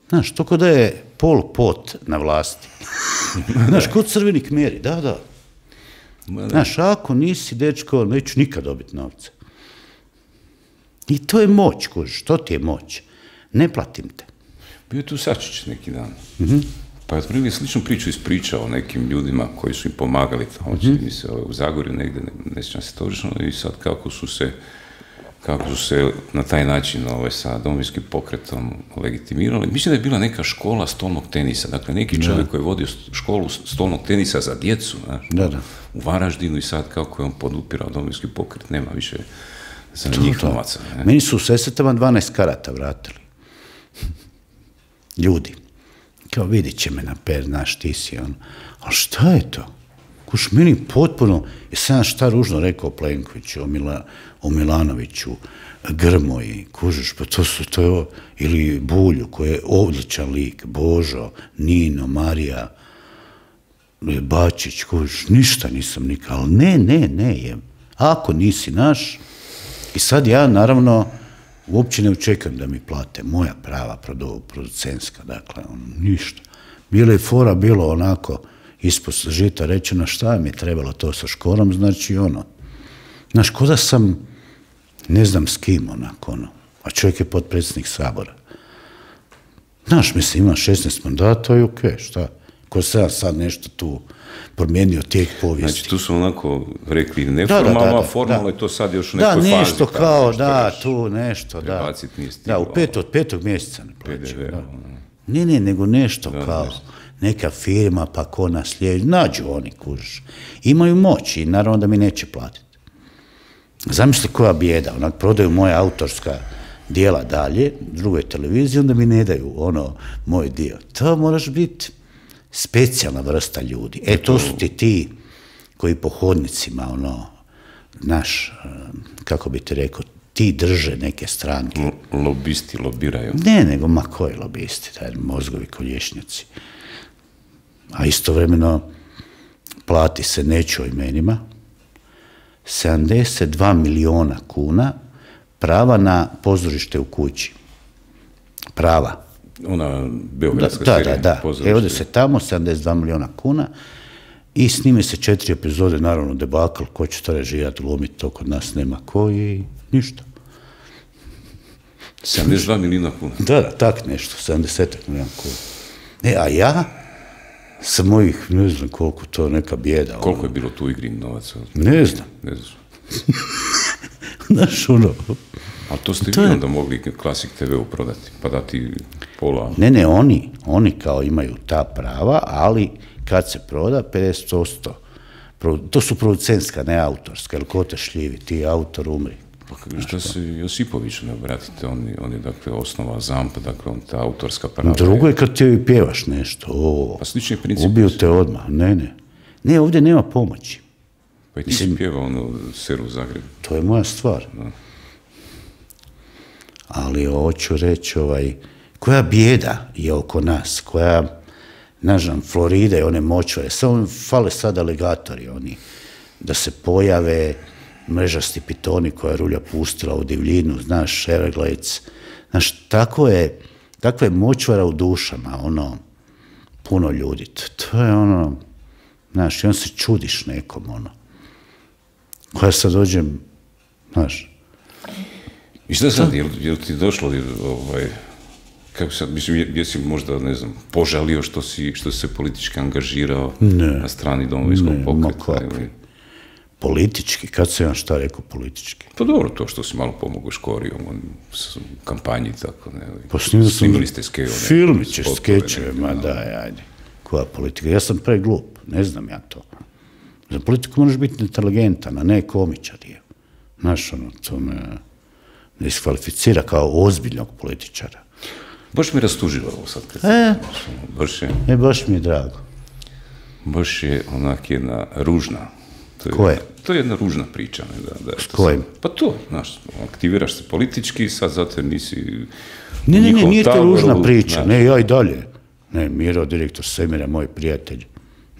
Znaš, to ko da je Pol Pot na vlasti. Znaš, kod Crveni Kmeri, da. Znaš, ako nisi dečko, neću nikad dobiti novce. I to je moć, kužiš, to ti je moć. Ne platim te. Bio je tu Sačić neki dan. Pa je otprilike sličnu priču ispričao o nekim ljudima koji su im pomagali tamo, čini mi se u Zagorju negdje, ne sjećam se točno, i sad kako su se na taj način sa Domovinskim pokretom legitimirali. Mislim da je bila neka škola stolnog tenisa, dakle neki čovjek koji je vodio školu stolnog tenisa za djecu, u Varaždinu, i sad kako je on podupirao Domovinski pokret, nema više za njih novaca. Meni su u Sesvetama 12 karata vratili. Ljudi. Kao, vidit će me na per, znaš, ti si on. Ali šta je to? Kuš, meni potpuno, sam šta ružno rekao Plenkoviću, o Milanoviću, Grmoji, kužiš, pa to je, ili Bulju, koji je odličan lik, Božo, Nino, Marija, Bačić, kužiš, ništa nisam nikad, ali ne, ako nisi naš, i sad ja, naravno, uopće ne očekujem da mi plate moja prava producentska, dakle, ništa. Bilo je fora, bilo onako ispod žita rečeno šta mi je trebalo to sa Škorom, znači znaš, ko da sam ne znam s kim onako, a čovjek je potpredsjednik Sabora. Znaš, mislim, ima 16 mandata i okej, šta? Ko se ja sad nešto tu promijenio tijek povijesti. Znači, tu su onako rekli neformalno, a formalno je to sad još u nekoj fazi. Da, nešto kao, tu nešto, da. Prebacit nije stiglo. Da, od 5. mjeseca ne plaćaju. Ne, nego nešto kao, neka firma, pa ko naslijedi, nađu oni, kužiš. Imaju moć i naravno da mi neće platiti. Zamisli koja bijeda, onak prodaju moja autorska dijela dalje, drugoj televiziji, onda mi ne daju moj dio. To moraš biti specijalna vrsta ljudi. To su ti koji po hodnicima, naš, kako bi ti rekao, ti drže neke stranke. Lobisti lobiraju. Ne, nego koji lobisti, mozgovi kolješnjaci. A istovremeno plati se, neću o imenima, 72 miliona kuna prava na pozorište u kući. Prava. Ona beogradska serija. Da. Ovdje se tamo 72 miliona kuna i snime se 4 epizode, naravno debakl, ko će to režirati, glumiti, to kod nas nema ko i ništa. 72 milijuna kuna? Da, tak nešto, 70 milijuna kuna. A ja sa mojih, ne znam koliko to, neka bijeda. Koliko je bilo tu igri novaca? Ne znam. Znaš, A to ste vi onda mogli Klasik TV-u prodati, pa dati pola? Ne, oni kao imaju ta prava, ali kad se proda 50%, to su producentska, ne autorska, jer ko te šljivi, ti autor umri. Pa što se Josipoviću ne obratite, on je dakle osnova ZAMP, dakle on ta autorska prava. Drugo je kad ti pjevaš nešto, pa slični princip. Ubiju te odmah, ne, ovdje nema pomoći. Pa i ti si pjevao Seru u Zagrebu. To je moja stvar. Ali hoću reći, koja bijeda je oko nas, koja, ne znam, Florida i one močvare, samo fale sad aligatori, oni, da se pojave mrežasti pitoni koja je rulja pustila u divljinu, znaš, Everglades, znaš, takva je močvara u dušama, puno ljudi, to je znaš, i on se čudiš nekom, koja sad dođem, znaš. I šta sad, je li ti došlo, kako sad, mislim, jesi možda, ne znam, požalio što si se politički angažirao na strani Domovinskog pokreta? Politički? Kad sam ja šta rekao politički? Pa dobro, to što si malo pomogao Škoriju u kampanji, tako, ne? Pa snimili ste filmiće, skečeve, ma daj, ajde. Koja politika? Ja sam preglup, ne znam ja to. Za politiku moraš biti inteligentan, a ne komičar je. Znaš, to me diskvalificira kao ozbiljnog političara. Baš mi rastužilo ovo sad. Baš mi je drago. Baš je onak jedna ružna. Koje? To je jedna ružna priča. S kojim? Pa to, znaš, aktiviraš se politički, sad zato jer nisi... Ne, nije to ružna priča, ne, ja i dalje. Ne, Miro, direktor Semira, moj prijatelj.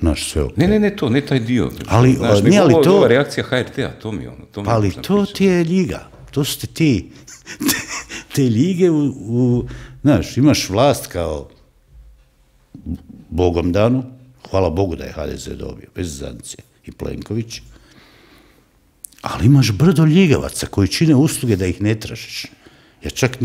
Znaš, sve ok. Ne, to, ne taj dio. Ali, znaš, ova reakcija HRT-a, to mi je ono. Pa ali to ti je ljiga. To su ti te lige znaš, imaš vlast kao Bogom danu, hvala Bogu da je HDZ dobio, bez Zance i Plenković, ali imaš brdo ljigavaca koji čine usluge da ih ne tražiš. Ja čak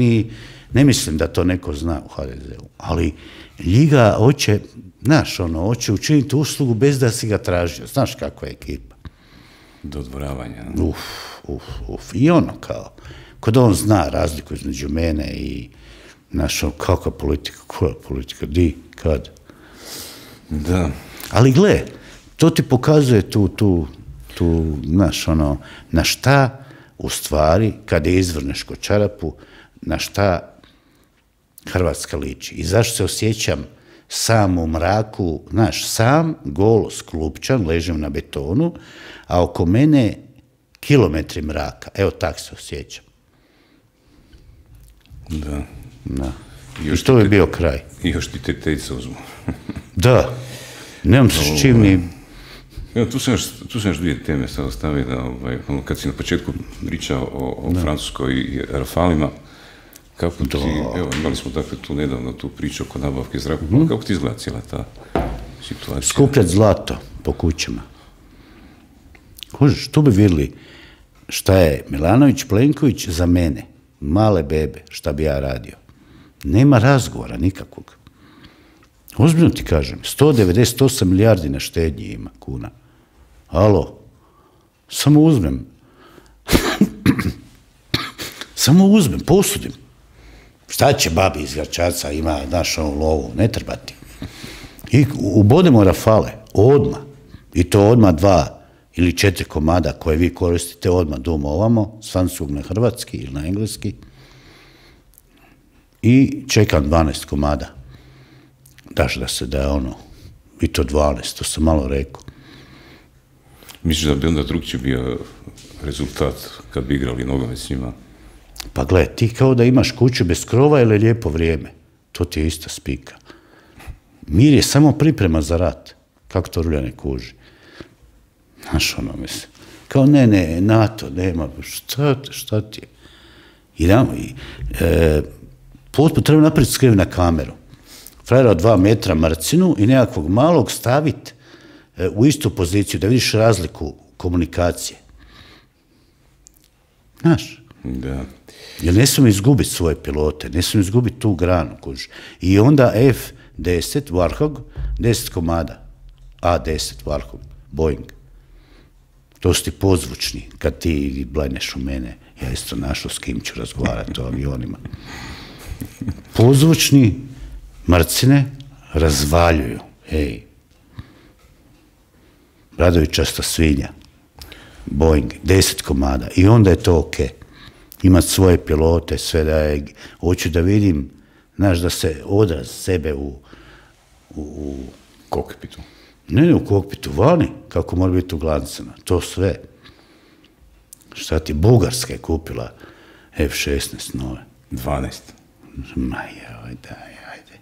ne mislim da to neko zna u HDZ-u, ali ljiga hoće, znaš, hoće učiniti uslugu bez da si ga tražio. Znaš kakva je ekipa. Dodvoravanja. I kao, kod on zna razliku između mene i kakva politika, koja politika, di, kad. Da. Ali gle, to ti pokazuje tu, znaš, na šta, u stvari, kad je izvrneš ko čarapu, na šta Hrvatska liči. I zašto se osjećam sam u mraku, znaš, sam, golo, sklupčan, ležem na betonu, a oko mene kilometri mraka. Evo, tak se osjećam. Da. I to je bio kraj. I još ti tetejce uzmu. Da. Nemam se s čim ni... Evo, tu sam još dvije teme sad ostavio da, kad si na početku pričao o Francuskoj i Rafalima, kako ti, evo, imali smo dakle tu nedavno tu priču oko nabavke zrakoplova, kako ti izgleda cijela ta situacija? Skupljat zlato po kućama. Kužiš, tu bi vidjeli šta je Milanović, Plenković za mene, male bebe, šta bi ja radio. Nema razgovora nikakvog. Ozbiljno ti kažem, 198 milijardi na štednji ima kuna. Alo, samo uzmem. Samo uzmem, posudim. Šta će babi iz Gračaca, ima našu lovu, ne treba ti. I ubodemo Rafale, odmah. I to odmah 2 ili 4 komada koje vi koristite odmah doma ovamo, s francuskog na hrvatski ili na engleski. I čekam 12 komada. Daš da se da je i to 12, to sam malo rekao. Misliš da bi onda drugčiji bio rezultat kad bi igrali nogomet s njima? Pa gle, ti kao da imaš kuću bez krova ili lijepo vrijeme. To ti je ista spika. Mir je samo priprema za rat. Kako to Rulja ne kuži? Znaš, mislim. Kao ne, NATO, nema, šta ti je? Potpuno treba napraviti skriv na kameru. Frajera od 2 metra mrcinu i nekakvog malog staviti u istu poziciju, da vidiš razliku komunikacije. Znaš? Da. Jer ne smijemo izgubiti svoje pilote, ne smijemo izgubiti tu granu. I onda F-10, Warthog, 10 komada. A-10, Warthog, Boeing. To su ti pozvučni, kad ti blajneš u mene. Ja isto našao s kim ću razgovarati o avionima. Pozvučni, mrcine, razvaljuju. Ej. Bradovićasta svinja. Boeing, 10 komada. I onda je to okej. Imati svoje pilote, sve da je... Hoću da vidim, znaš, da se odraz sebe u kokpitu. Ne, u kokpitu, vani, kako mora biti u glancama. To sve. Šta ti, Bugarska je kupila F-16 nove. 12. Ma joj, daj, ajde.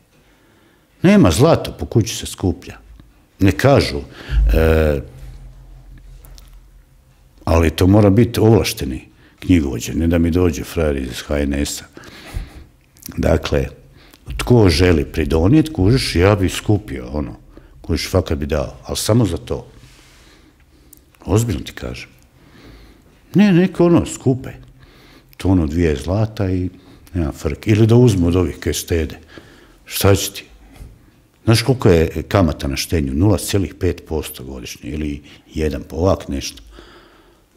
Nema zlato, po kući se skuplja. Ne kažu, ali to mora biti ovlašteni knjigovođe, ne da mi dođe frajer iz HNS-a. Dakle, tko želi pridonijeti, kužiš, ja bi skupio, kužiš, fakat bi dao, ali samo za to. Ozbiljno ti kažem. Ne, neko skupe. To 2 zlata i nema frke. Ili da uzmu od ovih kaj štede. Šta će ti? Znaš koliko je kamata na štednju? 0,5% godišnje ili 1, ovak nešto.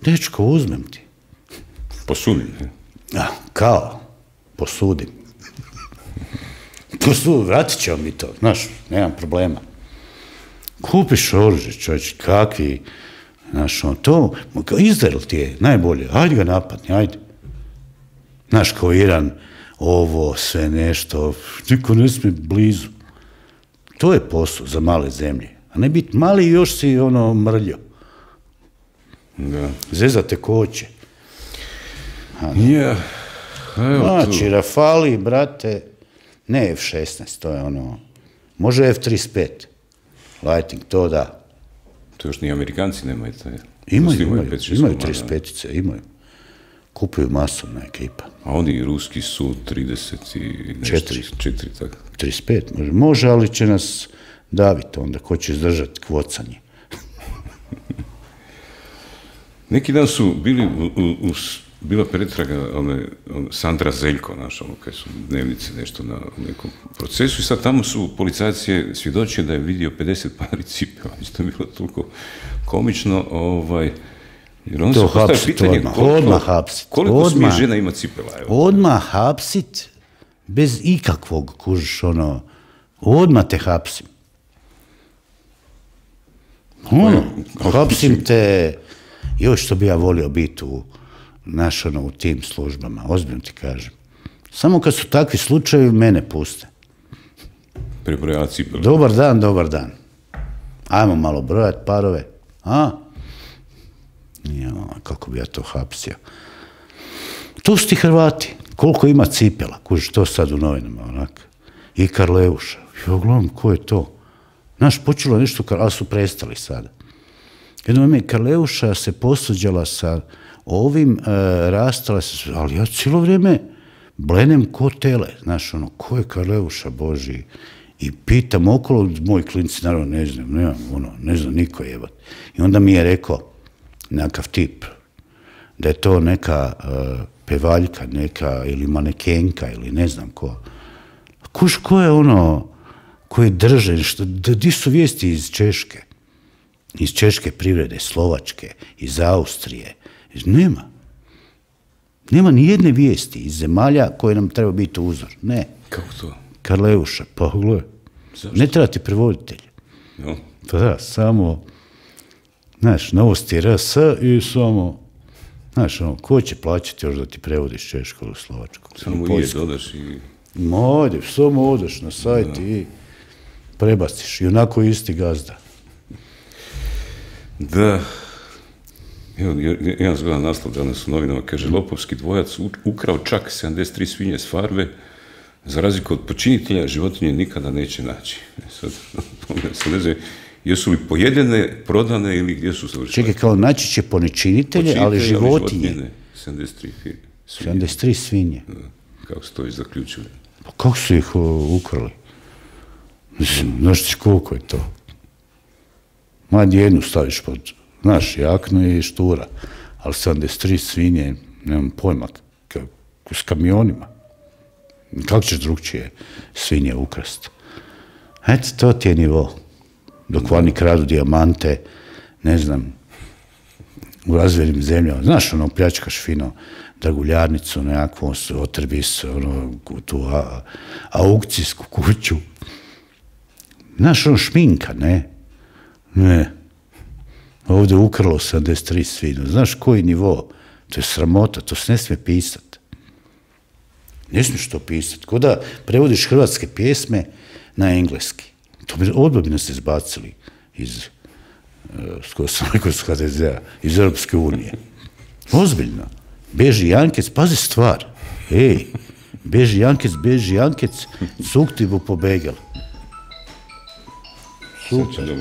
Dečko, uzmem ti. Posudim. Kao, posudim. Vratit ćemo mi to, znaš, nemam problema. Kupiš oružje, čovječ, kakvi, znaš, to, Izrael ti je najbolje, ajde ga napadni, ajde. Znaš, kao Iran, ovo, sve nešto, niko ne smije blizu. To je posao za male zemlje, a ne biti mali i još si mrljo. Zezate koće. Znači, Rafali, brate, ne F-16, to je može F-35. lighting, to da. To još ni Amerikanci nemaju. Imaju 35-ice, imaju. Kupuju masovna ekipa. A oni ruski su 30 i nešto. 4, tako. 35, može, ali će nas daviti onda, ko će izdržati kvocanje. Neki dan su bili bila pretraga Sandra Zeljko, kad su dnevnice nešto na nekom procesu i sad tamo su policajci svjedočili da je vidio 50 pari cipela. Isto je bilo toliko komično, jer on se postaje pitanje koliko smije žena ima cipela. Odmah hapsit, bez ikakvog, kužiš, odmah te hapsim. Hapsim te, još što bi ja volio biti u tim službama, ozbiljno ti kažem. Samo kad su takvi slučajevi, mene puste. Prebrojava cipele. Dobar dan. Ajmo malo brojati parove. Kako bi ja to hapsio. Tu su ti Hrvati. Koliko ima cipela? Kužiš, to sad u novinama, onak. I Karleuša. Ja gledam, ko je to? Znaš, počelo nešto, ali su prestali sada. Jedno ime Karleuša se posuđala sa ovim, rastala se, ali ja cijelo vrijeme blenem ko tele. Znaš, ko je Karleuša, Boži? I pitam okolo, moji klinci, naravno, ne znam, niko jebat. I onda mi je rekao, nekakav tip, da je to neka pevaljka, neka, ili manekenka, ili ne znam ko. Kuš, ko je koji drže, di su vijesti iz Češke? Iz Češke privrede, Slovačke, iz Austrije. Nema ni jedne vijesti iz zemalja koje nam treba biti uzor. Ne. Kako to? Karleuša, pa gledaj. Ne treba ti prevoditelj. No. Pa da, samo, znaš, novosti RS i samo, znaš, ko će plaćati još da ti prevodiš Češko ili Slovačko? Samo dodaš i... Samo odeš na sajt i prebaciš. I onako isti gazda. Da. Evo, jedan zgodan naslov danas u novinama, kaže, lopovski dvojac ukrao čak 73 svinje s farme, za razliku od počinitelja, životinje nikada neće naći. Sad ne znam, jesu li pojedene, prodane ili gdje su završile? Čekaj, kao naći će počinitelje, ali životinje. 73 svinje. Kako su to i zaključili? Pa kako su ih ukrali? Znaš ti koliko je to? Jednu staviš pod, znaš, jaknu i štura, ali 73 svinje, nemam pojma, s kamionima. Kako ćeš drugčije svinje ukrasti? Eto, to ti je nivo. Dok vani kradu dijamante, ne znam, u razvijenim zemljama. Znaš, pljačkaš fino draguljarnicu, nekakvu otrvis, tu aukcijsku kuću. Znaš, šminka, ne? Ne. Ovdje ukralo 73 svinja. Znaš koji nivo? To je sramota, to se ne smije pisati. Ne smiješ to pisati. Ko da prevodiš hrvatske pjesme na engleski. Odmah bi nas izbacili iz HDZ-a, iz Europske unije. Ozbiljno. Beži Jankec, pazi stvar. Ej, beži Jankec, cuk ti bu pobegel. Super.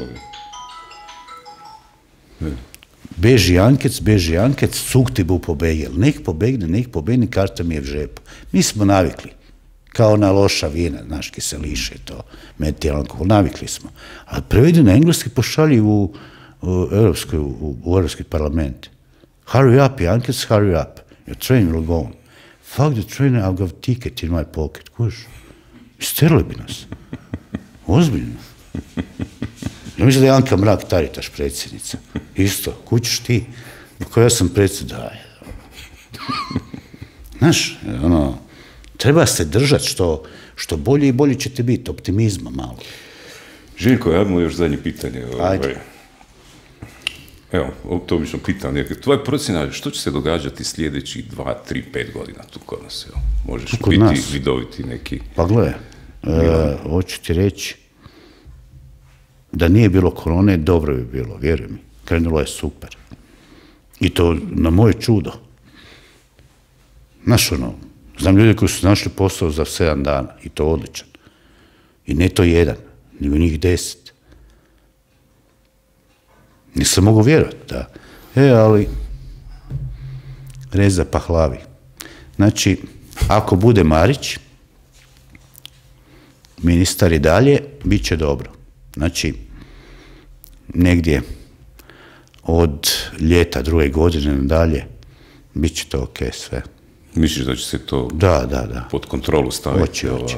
Beži Jankec, cuk ti bu pobegel. Nek pobegne, karta mi je v žepu. Mi smo navikli. Kao na loša vina, znaš, kiseliše to, metil alkohol, navikli smo. Ali prevedi na engleski, pošalji u Europski parlament. Hurry up, Jankec, hurry up. Your train will go on. Fuck the train, I've got a ticket in my pocket. Kuš? Isterili bi nas. Ozbiljno. Ja mislim da je Anka Mrak-Taritaš predsjednica. Isto, kućiš ti. Kako ja sam predsjednik. Znaš, treba se držati što bolje i bolje ćete biti, optimizma malo. Željko, ja imamo još zadnje pitanje. Ajde. Evo, to obično pitam. Tvoja procjena, što će se događati sljedećih 2, 3, 5 godina tu kod nas? Možeš biti vidoviti neki... Pa gledaj, hoću ti reći da nije bilo korone, dobro bi bilo, vjeruj mi. Krenulo je super. I to na moje čudo. Znaš, znam ljudi koji su našli posao za 7 dana i to odličan. I ne to jedan, nego njih 10. Nisam mogu vjerovati, da. Ali Reza Pahlavi. Znači, ako bude Marić, ministar i dalje, bit će dobro. Znači, negdje od ljeta druge godine nadalje, bit će to ok sve. Misliš da će se to pod kontrolu staviti? Hoće.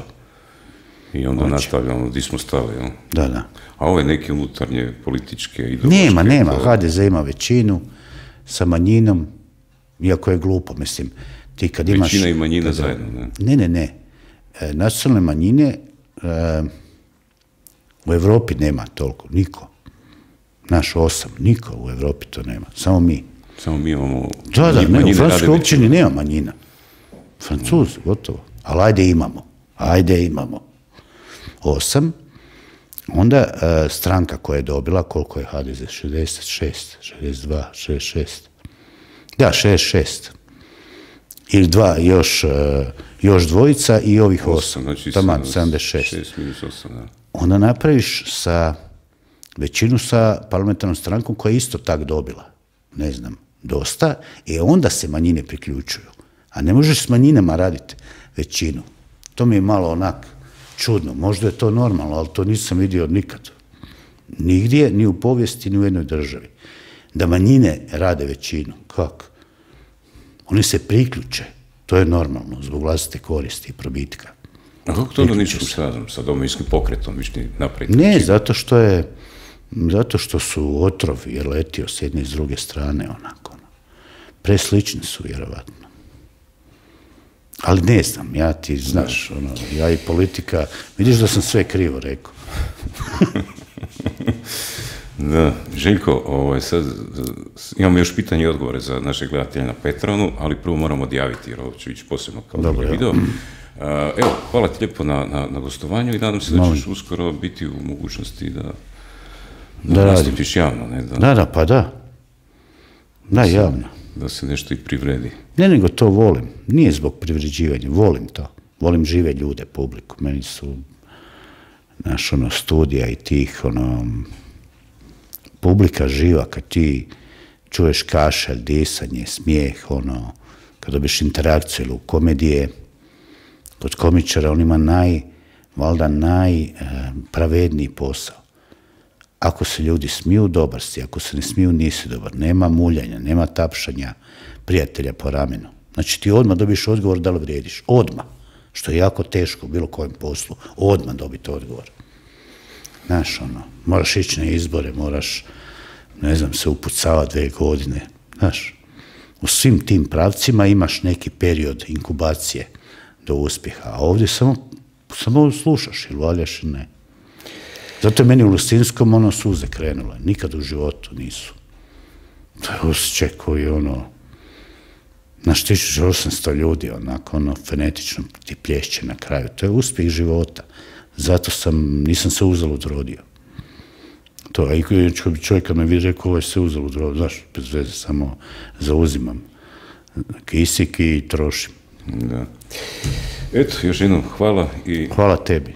I onda nastavljamo gdje smo stali, jel? Da. A ove neke unutarnje političke ideološke... Nema. HDZ ima većinu sa manjinom, iako je glupo, mislim. Ti kad imaš... Većina i manjina zajedno, ne? Ne. Nacionalne manjine u Evropi nema toliko, niko. Naš 8, niko u Evropi to nema, samo mi. Samo mi imamo... Da, ne, u Francuskoj općini nema manjina. Francuzi, gotovo. Ali ajde imamo. 8. Onda stranka koja je dobila, koliko je HDZ? 66, 62, 66. Da, 66. Ili još dvojica i ovih 8. Znači Taman, 76. 6 minus 8, da. Onda napraviš većinu sa parlamentarnom strankom koja je isto tak dobila. Ne znam, dosta. I onda se manjine priključuju. A ne možeš s manjinama raditi većinu. To mi je malo onak čudno. Možda je to normalno, ali to nisam vidio nikad. Nigdje, ni u povijesti, ni u jednoj državi. Da manjine rade većinu. Kako? Oni se priključe. To je normalno, zbog vlastite koristi i probitka. A kako to onda nisu sa Domovinskim pokretom višni napraviti? Ne, zato što su otrovi je letio s jedne i s druge strane, onako. Preslični su, vjerovatno. Ali ne znam, ja ti znaš, ja i politika, vidiš da sam sve krivo rekao. Da, Željko, sad imamo još pitanje i odgovore za naše gledatelje na Patronu, ali prvo moramo odjaviti, jer ovo će ići posebno kao drugi video. Evo, hvala ti lijepo na gostovanju i nadam se da ćeš uskoro biti u mogućnosti da nastupiš javno, ne? Da, javno. Da se nešto i privredi. Ne, nego to volim. Nije zbog privređivanja, volim to. Volim žive ljude, publiku. Meni su studija i tih, publika živa, kad ti čuješ kašalj, disanje, smijeh, kad dobiš interakciju ili u komedije, kod komičara on ima valjda najpravedniji posao. Ako se ljudi smiju, dobar si, ako se ne smiju, nisi dobar. Nema muljanja, nema tapšanja prijatelja po ramenu. Znači ti odmah dobiš odgovor da li vrijediš. Odmah. Što je jako teško u bilo kojem poslu. Odmah dobiti odgovor. Znaš, moraš ići na izbore, moraš, ne znam, se upucavati 2 godine. Znaš, u svim tim pravcima imaš neki period inkubacije do uspjeha, a ovdje samo slušaš ili valjaš ili ne. Zato je meni u Lustinskom suze krenule. Nikad u životu nisu. To je osjećaj koji naš 1800 ljudi onako fenetično ti plješće na kraju. To je uspjeh života. Zato nisam se uzalud rodio. To, a i čovjek kad me vidi rekao, ovo je se uzalud rodio, znaš, bez veze, samo zauzimam kisik i trošim. Da. Eto, još jednom hvala i... Hvala tebi.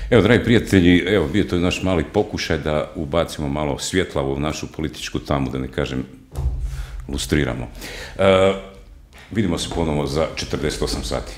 Evo, dragi prijatelji, evo, bio to je naš mali pokušaj da ubacimo malo svjetla u našu političku tamu, da ne kažem, lustriramo. Vidimo se ponovo za 48 sati.